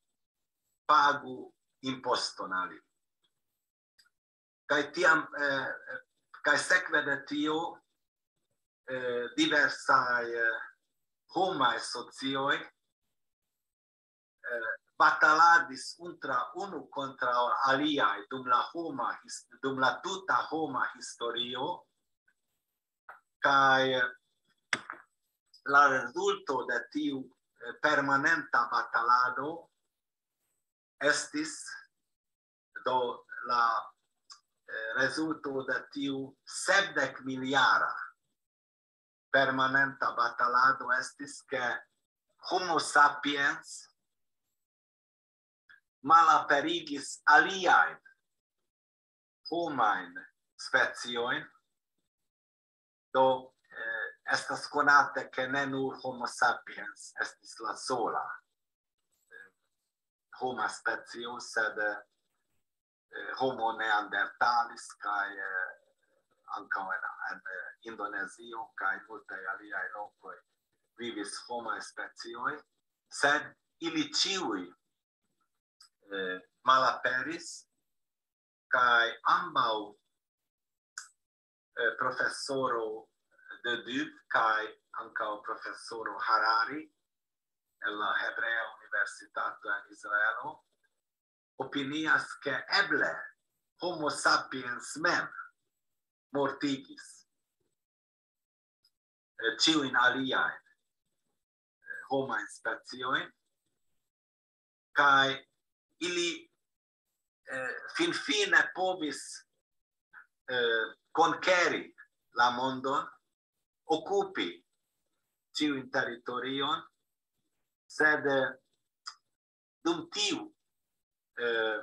pagu imposton al ili. Kaj tiam, eh, kaj sekve de tio, eh, diversaj, eh, homaj socioj, eh, bataladis untra, unu kontraŭ aliaj dum la homa his-, dum la tuta homa historio, kaj la rezulto de tiu, eh, permanenta batalado estis, do, la, eh, rezulto de tiu sepdek miljara permanenta batalado estis, ke Homo sapiens malaperigis aliajn homajn speciojn. Do, eh, estas konate, ke ne nur Homo sapiens estis la sola, eh, homa specio, sed, eh, Homo neandertalis kaj, eh, ankaŭ en, en, eh, Indonezio kaj multaj aliaj lokoj vivis homaj specioj, sed ili ĉiuj, eh, malaperis, kaj ambaŭ, eh, profesoro de Duve kaj ankaŭ profesoro Harari el la Hebrea Universitato en Israelo opinias, ke eble Homo sapiens mem mortigis, eh, ĉiujn aliajn, eh, homajn speciojn, kaj ili, eh, finfine povis, eh, konkeri la mondon, okupi ĉiujn teritorion, sed, eh, dum tiu, eh,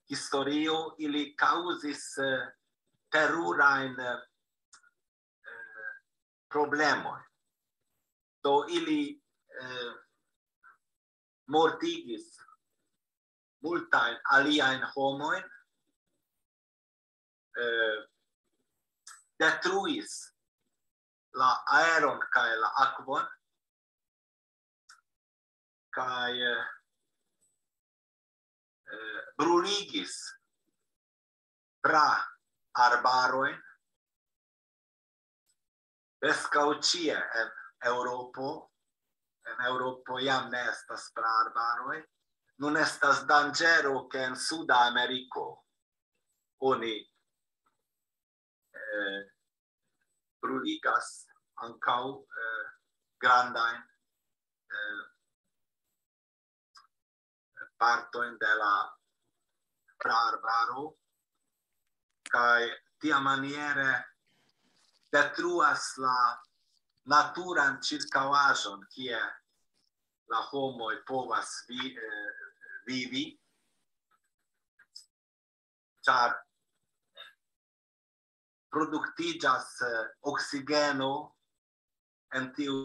historio ili kaŭzis, eh, terurajn, eh, problemojn. Do ili, eh, mortigis multajn aliajn homojn, eh, detruis la aeron kaj la akvon, kaj, eh, eh, bruligis pra arbarojn. Preskaŭ ĉie en Eŭropo, en Eŭropo jam ne estas pra arbaroj. Nun estas danĝero, ke en Suda Ameriko oni, eh, bruligas ankaŭ, eh, grandajn, eh, partojn de la pra arbaro, kaj tiamaniere detruas la naturan ĉirkaŭaĵon, kie la homoj povas vi-, eh, vivi, ĉar produktiĝas, eh, oksigeno en tiu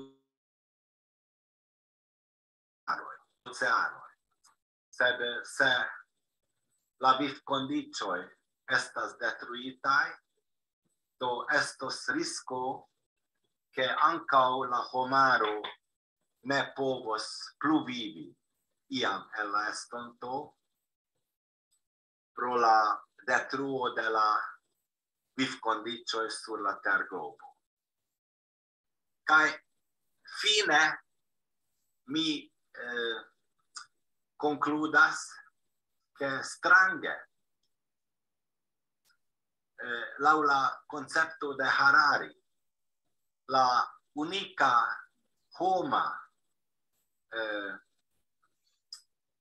oceanoj. Sed se la vivkondiĉoj estas detruitaj, do estos risko, ke ankaŭ la homaro ne povos plu vivi iam en la estonto. pro la detruo de la vivkondiĉoj sur la terglobo. Kaj fine mi eh, konkludas, ke strange, eh, laŭ la koncepto de Harari, la unika homa eh,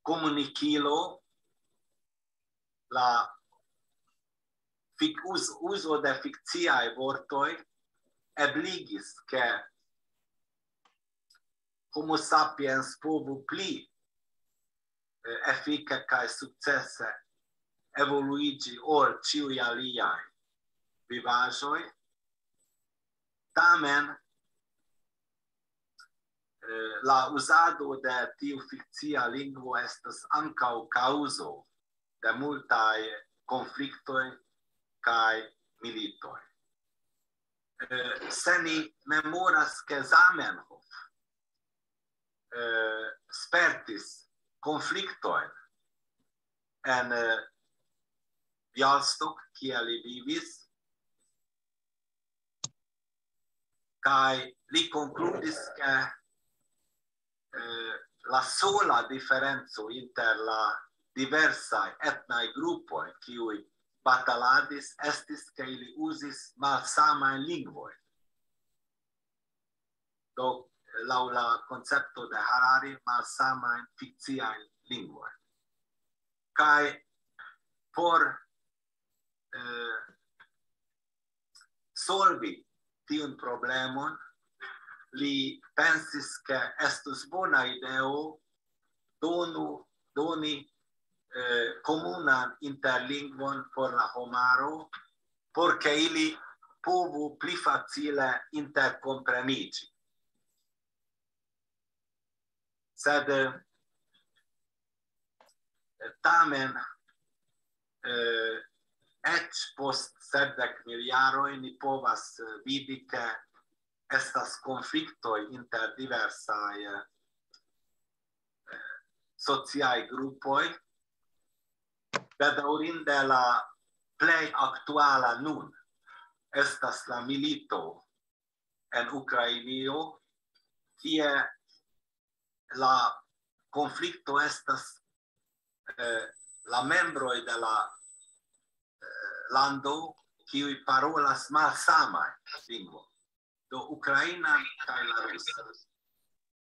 komunikilo, la fik-, uz-, uzo de fikciaj vortoj ebligis, ke Homo sapiens povu pli eh, efike kaj sukcese evoluiĝi ol ĉiuj aliaj vivaĵoj. Tamen, eh, la uzado de tiu fikcia lingvo estas ankaŭ kaŭzo de multaj konfliktoj kaj militoj. Eh, se ni memoras, ke Zamenhof eh, spertis konfliktojn en eh, Bialystok, kie li vivis, kaj li konkludis, ke eh, la sola diferenco inter la diversaj etnaj grupoj, kiuj bataladis, estis, ke ili uzis malsamajn lingvojn. Do, laŭ la koncepto de Harari, malsamajn fikciajn lingvojn. Kaj por eh, solvi tiun problemon, li pensis, ke estus bona ideo donu, doni eh, komunan interlingvon por la homaro, por ke ili povu pli facile interkompreniĝi. Sed eh, tamen, eh, eĉ post sepdek mil jaroj ni povas eh, vidi, ke estas konfliktoj inter diversaj eh, sociaj grupoj. Bedaŭrinde la plej aktuala nun estas la milito en Ukrainio, kie la konflikto estas eh, la membroj de la eh, lando, kiuj parolas malsamaj lingvo. Do ukrainan kaj la rusa.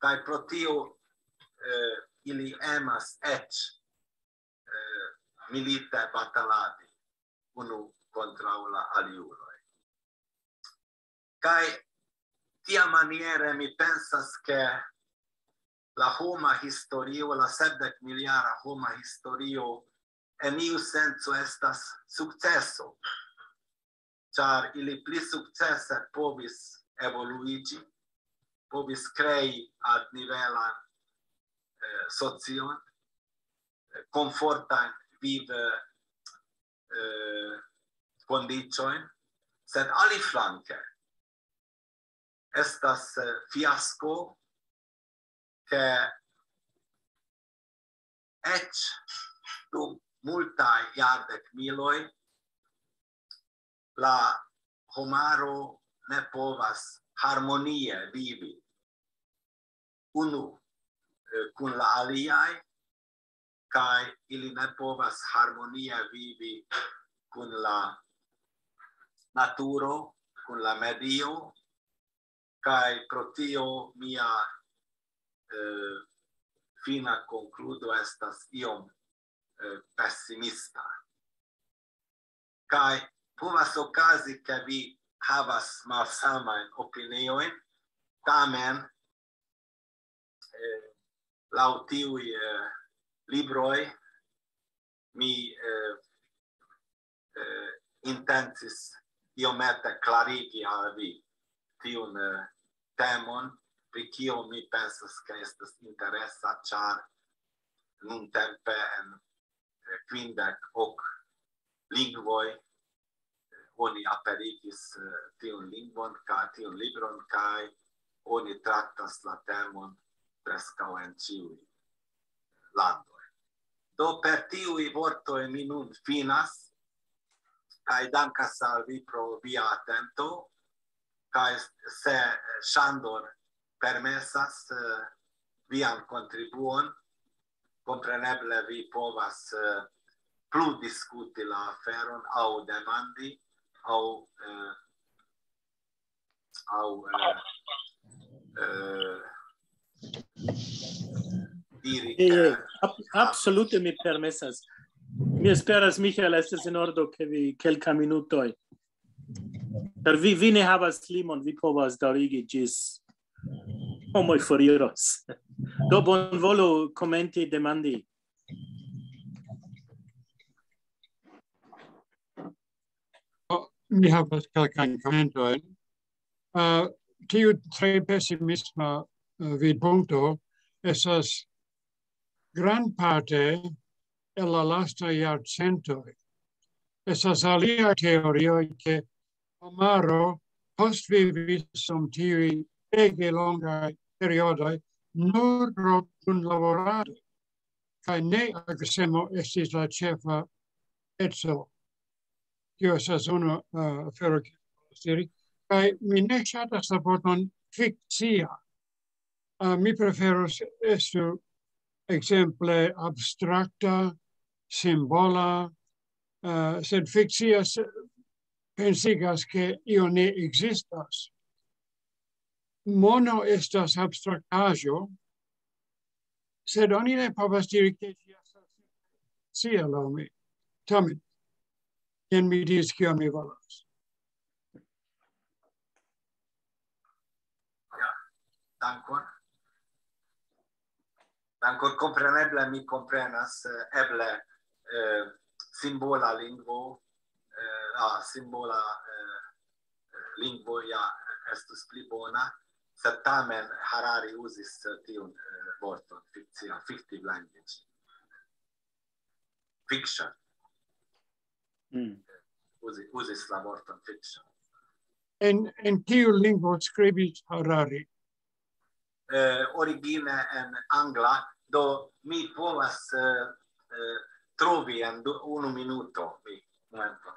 Kaj pro tio eh, ili emas eĉ eh, milite bataladi unu kontraŭ la aliuloj. Kaj tiamaniere mi pensas, ke la homa historio, la sepdek miljara homa historio, en iu senco estas sukceso, ĉar ili pli sukcese povis evoluiĝi, povis krei altnivelan eh, socion, eh, komfortajn viv eh, kondiĉojn, sed aliflanke estas eh, fiasko, ke eĉ dum multaj jardekmiloj la homaro ne povas harmonie vivi unu eh, kun la aliaj, kaj ili ne povas harmonie vivi kun la naturo, kun la medio, kaj pro tio mia eh, fina konkludo estas iom eh, pesimista. Kaj povas okazi, ke vi havas malsamajn opiniojn, tamen eh, laŭ tiuj eh, libroj mi eh, eh, intencis iomete klarigi al vi tiun eh, temon, pri kio mi pensas, ke estas interesa, ĉar nuntempe en eh, kvindek ok lingvoj eh, oni aperigis eh, tiun lingvon kaj tiun libron, kaj oni traktas la temon preskaŭ en ĉiuj landoj. Do per tiuj vortoj mi nun finas, kaj dankas al vi pro via atento, kaj se Ŝandor permesas, eh, vian kontribuon, kompreneble vi povas, eh, plu diskuti la aferon aŭ demandi, aŭ, eh, aŭ, eh, eh, diri, eh, ke ab-, absolute mi permesas. Mi esperas, Michael, estas en ordo, ke vi kelka minutoj. Ĉar vi, vi ne havas limon, vi povas daŭrigi ĝis homoj foriros. Do bonvolu komenti, demandi. Mi havas kelkajn komentojn. Eh, tiu tre pesimisma, eh, vidpunkto estas grandparte el la lastaj jarcentoj. Estas aliaj teorioj, ke homaro postvivis dum tiuj ege longaj periodoj nur pro kunlaborado, kaj ne agresemo estis la ĉefa eco. Tio estas unu, eh, afero, kiu mi volas diri. Kaj mi ne ŝatas la vorton fikcia. Eh, mi preferus estu ekzemple abstrakta, simbola, eh, sed fikcia se-, pensigas, ke io ne ekzistas. Mono estas abstraktaĵo, sed oni ne povas diri, ke ĝi estas fikcia laŭ mi. Tamen, jen mi diris, kion mi volas. Ja, dankon. Dankon, kompreneble mi komprenas, eh, eble, eh, simbola lingvo, eh, ah, simbola, eh, lingvo ja estus pli bona, sed tamen Harari uzis, eh, tiun, eh, vorton, fikcia, fictive language. Fiction. Mm. Uzi-, uzis la vorton fiction. En, en kiu lingvo skribis Harari? Eh, origine en angla, do mi povas, eh, eh, trovi en du, unu minuto, mi, momento.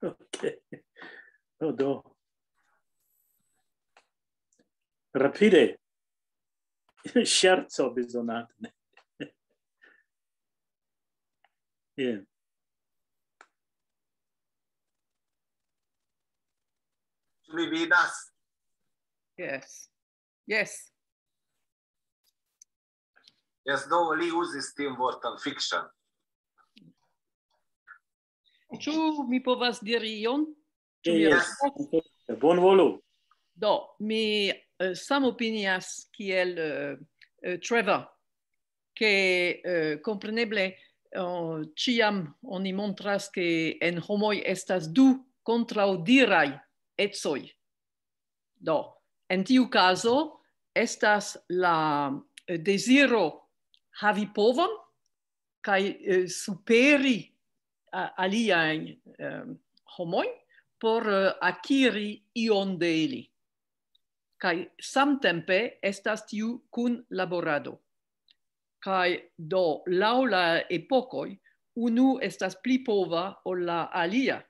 Ok. Do, do. Rapide. Ŝerco bezonate. Yeah. Ĉu vi vidas? Yes. Yes. Yes, do li uzis tiun vorton fiction. Ĉu mi povas diri ion? Ĉu mi Yes. povas? Bonvolu. Do, mi, eh, samopinias kiel, eh, eh, Trevor, ke, eh, kompreneble, eh, ĉiam oni montras, ke en homoj estas du kontraŭdiraj ecoj. Do, en tiu kazo estas la, eh, deziro havi povon kaj, eh, superi a-, aliajn, eh, homojn por, eh, akiri ion de ili. Kaj samtempe estas tiu kunlaborado. Kaj do, laŭ la epokoj, unu estas pli pova ol la alia.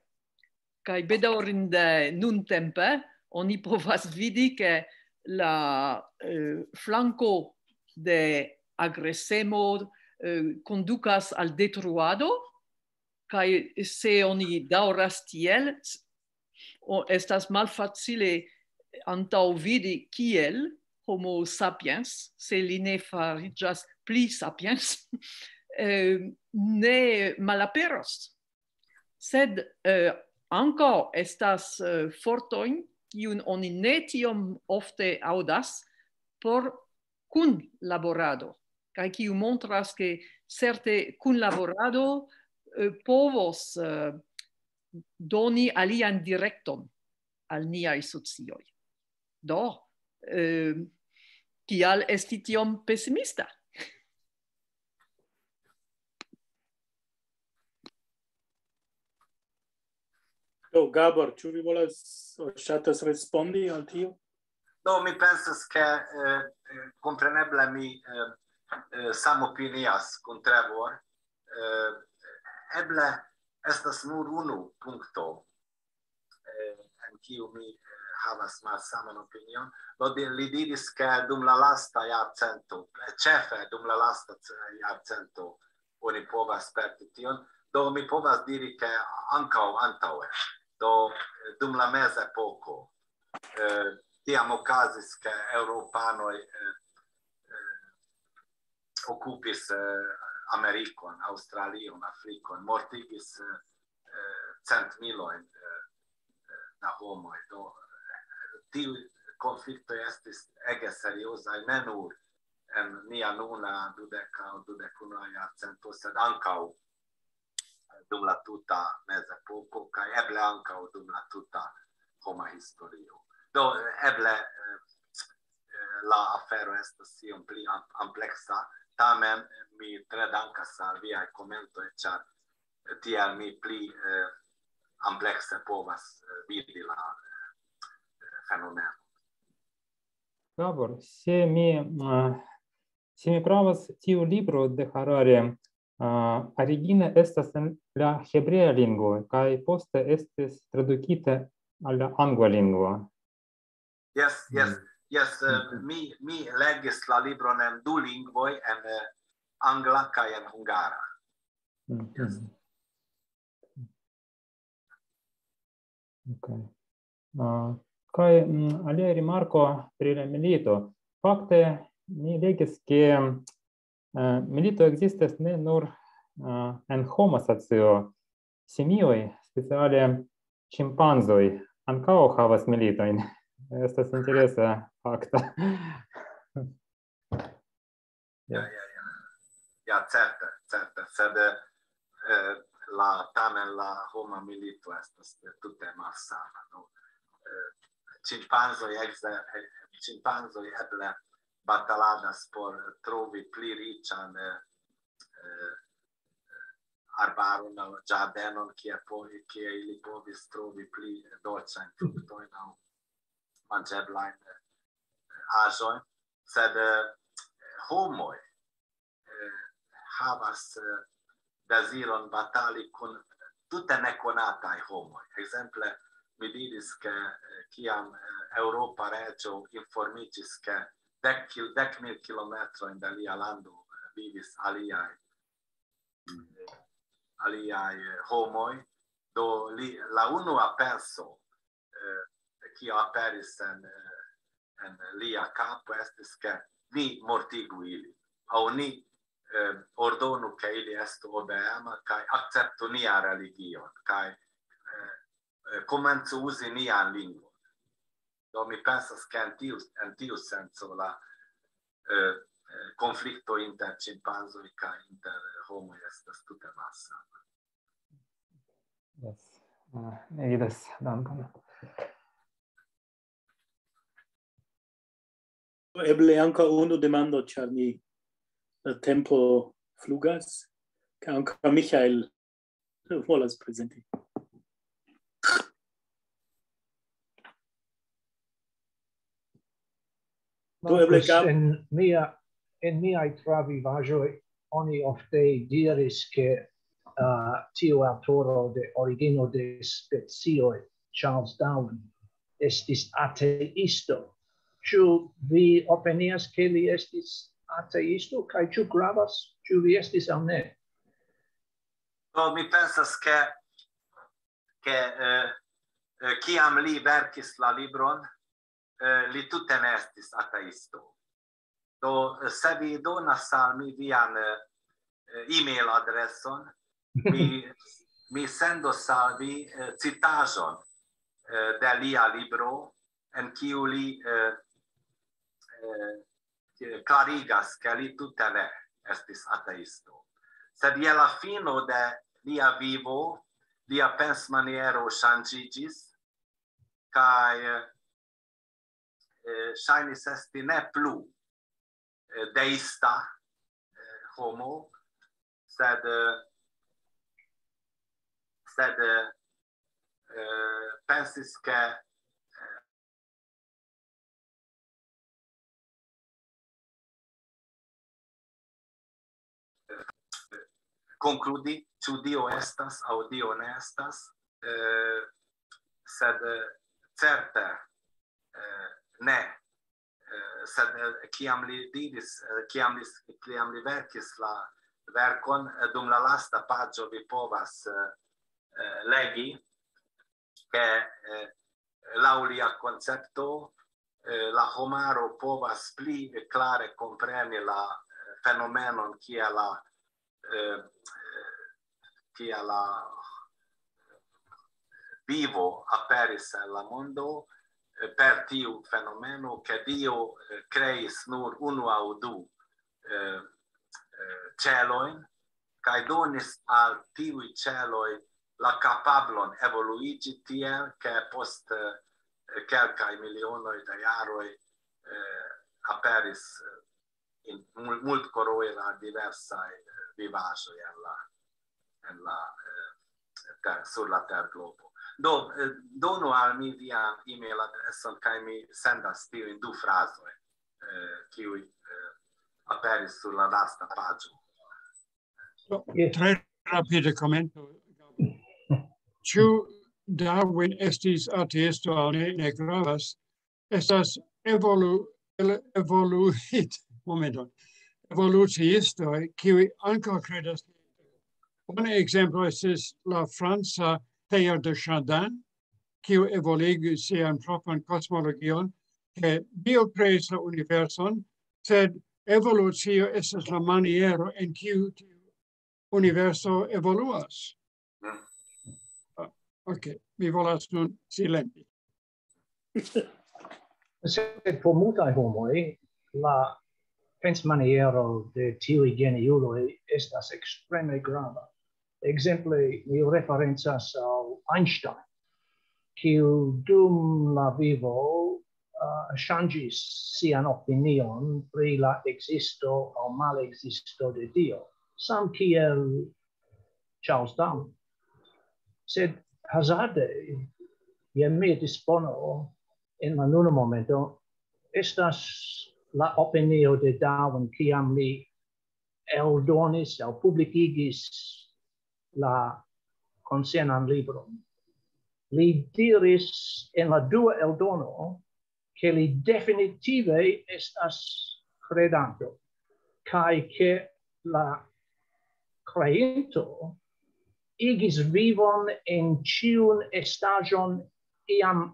Kaj bedaŭrinde nuntempe oni povas vidi, ke la, eh, flanko de agresemo, eh, kondukas al detruado, kaj se oni daŭras tiel, s-, o-, estas malfacile antaŭvidi, kiel Homo sapiens, se li ne fariĝas pli sapiens, eh, ne malaperos. Sed, eh, ankaŭ estas, eh, fortojn, kiun oni ne tiom ofte aŭdas, por kunlaborado, kaj kiu montras, ke certe kunlaborado, eh, povos, eh, doni alian direkton al niaj socioj. Do, eh, kial esti tiom pesimista? Do, Gabor, ĉu vi volas, ŝatas respondi al tio? Do, mi pensas, ke, eh, eh, kompreneble mi, eh, eh, samopinias kun Trevor. Eh, eble estas nur unu punkto, eh, en kiu mi, eh, havas malsaman opinion. Do di-, li diris, ke dum la lasta jarcento, eh, ĉefe dum la lasta ce-, jarcento, oni povas sperti tion. Do mi povas diri, ke ankaŭ antaŭe, do, eh, dum la mezepoko, eh, tiam okazis, ke eŭropanoj, eh, eh, okupis, eh, Amerikon, Aŭstralion, Afrikon, mortigis, eh, eh, centmilojn, eh, eh, da homoj. Do, eh, tiuj konfliktoj estis ege seriozaj, ne nur en nia nuna dudeka aŭ dudek unua jarcento, sed ankaŭ dum la tuta mezepoko, kaj eble ankaŭ dum la tuta homa historio. Do, eble, eh, eh, la afero estas iom pli am-, ampleksa, tamen mi tre dankas al viaj komentoj, ĉar tiel mi pli, eh, amplekse povas, eh, vidi la, eh, fenomeno. Gabor, se mi, eh, se mi pravas, tiu libro de Harari, eh, origine estas en la hebrea lingvo, kaj poste estis tradukita al la angla lingvo. Yes, yes, yes, eh, mi, mi legis la libron en du lingvoj, en, eh, angla kaj en hungara. Mhm. Ok. Ah, kaj, mm, alia rimarko pri la milito. Fakte, mi legis, ke, eh, milito ekzistas ne nur, eh, en homa socio. Simioj, speciale ĉimpanzoj, ankaŭ havas militojn. Estas interesa fakta. Ja, ja, ja. Ja, certe, certe. Sed, eh, la, tamen la homa milito estas tute malsama, no? Eh, ĉimpanzoj ekze-, eh, ĉimpanzoj eble bataladas por trovi pli riĉan, eh, eh, arbaron aŭ ĝardenon, kie po-, kie ili povis trovi pli dolĉajn fruktojn aŭ manĝeblajn, eh, aĵojn, sed, eh, homoj, eh, havas, eh, deziron batali kun tute nekonataj homoj. Ekzemple, mi diris, ke, eh, kiam, eh, eŭropa reĝo informiĝis, ke dek kil-, dek mil kilometrojn de lia lando, eh, vivis aliaj, eh, aliaj, eh, homoj, do li, la unua penso, eh, kio aperis en, eh, en lia kapo estis, ke ni mortigu ili, aŭ ni, eh, ordonu, ke ili estu obeema kaj akceptu nian religion, kaj, eh, eh, komencu uzi nian lingvon. Do mi pensas, ke en tiu, en tiu senco la, eh, eh, konflikto inter ĉimpanzoj kaj inter homoj estas tute malsama. Yes. Ah, mi vidas, dankon. Eble ankaŭ unu demando, ĉar ni, eh, tempo flugas, ke ankaŭ Michael volas prezenti. Do eble Gab- En mia, en miaj travivaĵoj oni ofte diris, ke, ah, tiu aŭtoro de Origino de Specioj, Charles Darwin, estis ateisto. Ĉu vi opinias, ke li estis ateisto, kaj ĉu gravas, ĉu li estis aŭ ne? Do mi pensas, ke, ke, eh, eh, kiam li verkis la libron, eh, li tute ne estis ateisto. Do, eh, se vi donas al mi vian, eh, eh, e-mail adreson, mi, mi sendos al vi, eh, citaĵon, eh, de lia libro, en kiu li, eh, eh, klarigas, ke li tute ne estis ateisto. Sed je la fino de lia vivo, lia pensmaniero ŝanĝiĝis, kaj, eh, ŝajnis esti ne plu, eh, deista, eh, homo, sed, eh, sed, eh, pensis, ke, eh, konkludi, ĉu Dio estas aŭ Dio ne estas, eh, sed, eh, certe, eh, ne. Eh, sed, eh, kiam li diris, eh, kiam li, kiam li verkis la verkon, eh, dum la lasta paĝo vi povas, eh, eh, legi, ke, eh, laŭ lia koncepto, eh, la homaro povas pli klare kompreni la, eh, fenomenon, kia la, eh, kia la vivo aperis en la mondo, eh, per tiu fenomeno, ke Dio, eh, kreis nur unu aŭ du, eh, eh, ĉelojn, kaj donis al tiuj ĉeloj la kapablon evoluiĝi tiel, ke post, eh, kelkaj milionoj da jaroj, eh, aperis, eh, in mul-, multkoloraj diversaj, eh, vivaĵoj en la, en la, eh, ter-, sur la terglobo. Do, eh, donu al mi vian e-mail adreson, kaj mi sendas tiujn du frazojn, eh, kiuj, eh, aperis sur la lasta paĝo. Tre rapide komento. Ĉu Darwin estis ateisto aŭ ne, ne gravas. Estas evolu-, el-, evoluit-, momenton. Evoluciistoj, kiuj ankaŭ kredas. Bona ekzemplo estis la franca Teilhard de Chardin, kiu evoluigis sian propran kosmologion, ke Dio kreis la universon, sed evolucio estas la maniero en kiu tiu universo evoluas. Ah, ok, mi volas nun silenti. Sed por multaj homoj, la pensmaniero de tiuj geniuloj estas ekstreme grava. Ekzemple, mi referencas al Einstein, kiu dum la vivo, ah, ŝanĝis sian opinion pri la ekzisto aŭ malekzisto de Dio, samkiel Charles Darwin. Sed hazarde, je mia dispono en la nuna momento, estas la opinio de Darwin, kiam li eldonis aŭ publikigis la koncernan libron. Li diris en la dua eldono, ke li definitive estas kredanto, kaj ke la kreinto igis vivon en ĉiun estaĵon iam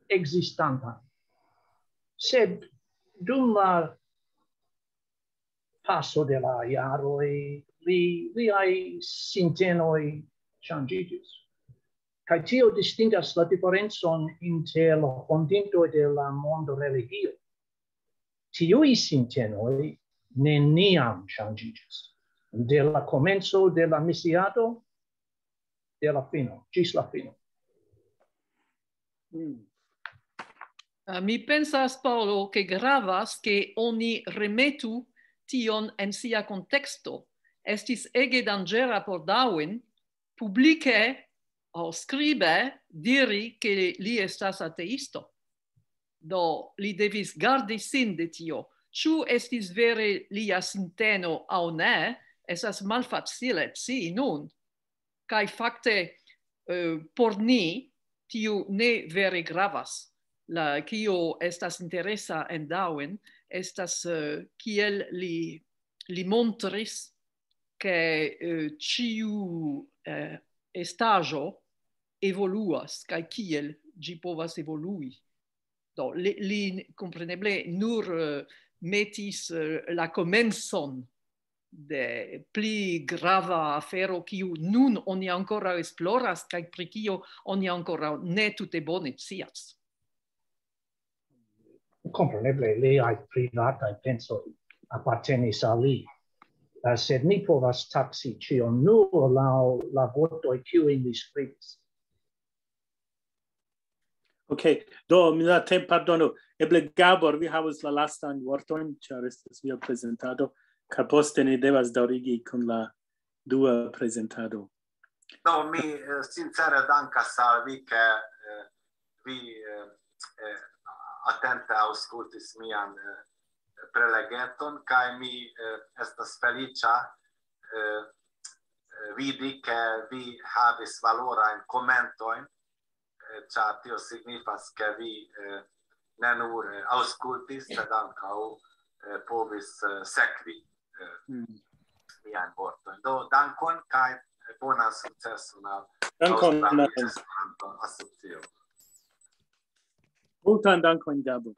ekzistantan. Sed dum la paso de la jaroj, li, liaj sintenoj ŝanĝiĝis. Kaj tio distingas la diferencon inter la fondintoj de la mondo religio. Tiuj sintenoj neniam ŝanĝiĝis. De la komenco de la misiado, de la fino, ĝis la fino. Mm. Ah, mi pensas, Paolo, ke gravas, ke oni remetu tion en sia konteksto. Estis ege danĝera por Darwin publike aŭ skribe diri, ke li estas ateisto. Do, li devis gardi sin de tio. Ĉu estis vere lia sinteno aŭ ne, estas malfacile scii nun. Kaj fakte, eh, por ni, tio ne vere gravas. La, kio estas interesa en Darwin, estas, eh, kiel li, li montris, ke, eh, ĉiu, eh, estaĵo evoluas, kaj kiel ĝi povas evolui. Do, li, li kompreneble nur, eh, metis, eh, la komencon de pli grava afero, kiu nun oni ankoraŭ esploras, kaj pri kio oni ankoraŭ ne tute bone scias. Kompreneble liaj privataj pensoj apartenis al li. Eh, sed ni povas taksi ĉion nur laŭ la vortoj, kiujn li skribis. Ok, do, mi la tem-, pardonu. Eble Gabor, vi havas la lastan vorton, ĉar estas via prezentado, kaj poste ni devas daŭrigi kun la dua prezentado. No, mi, eh, sincere dankas al vi, ke, eh, vi, eh, eh, atente aŭskultis mian, eh, prelegeton, kaj mi, eh, estas feliĉa, eh, vidi, ke vi havis valorajn komentojn, eh, ĉar tio signifas, ke vi, eh, ne nur, eh, aŭskultis, sed ankaŭ, eh, povis, eh, sekvi, eh, Mm. miajn vortojn. Do, dankon kaj bonan sukceson al Dankon, Aŭstralio Martin. Esperanto Asocio. Multan dankon, Gabo.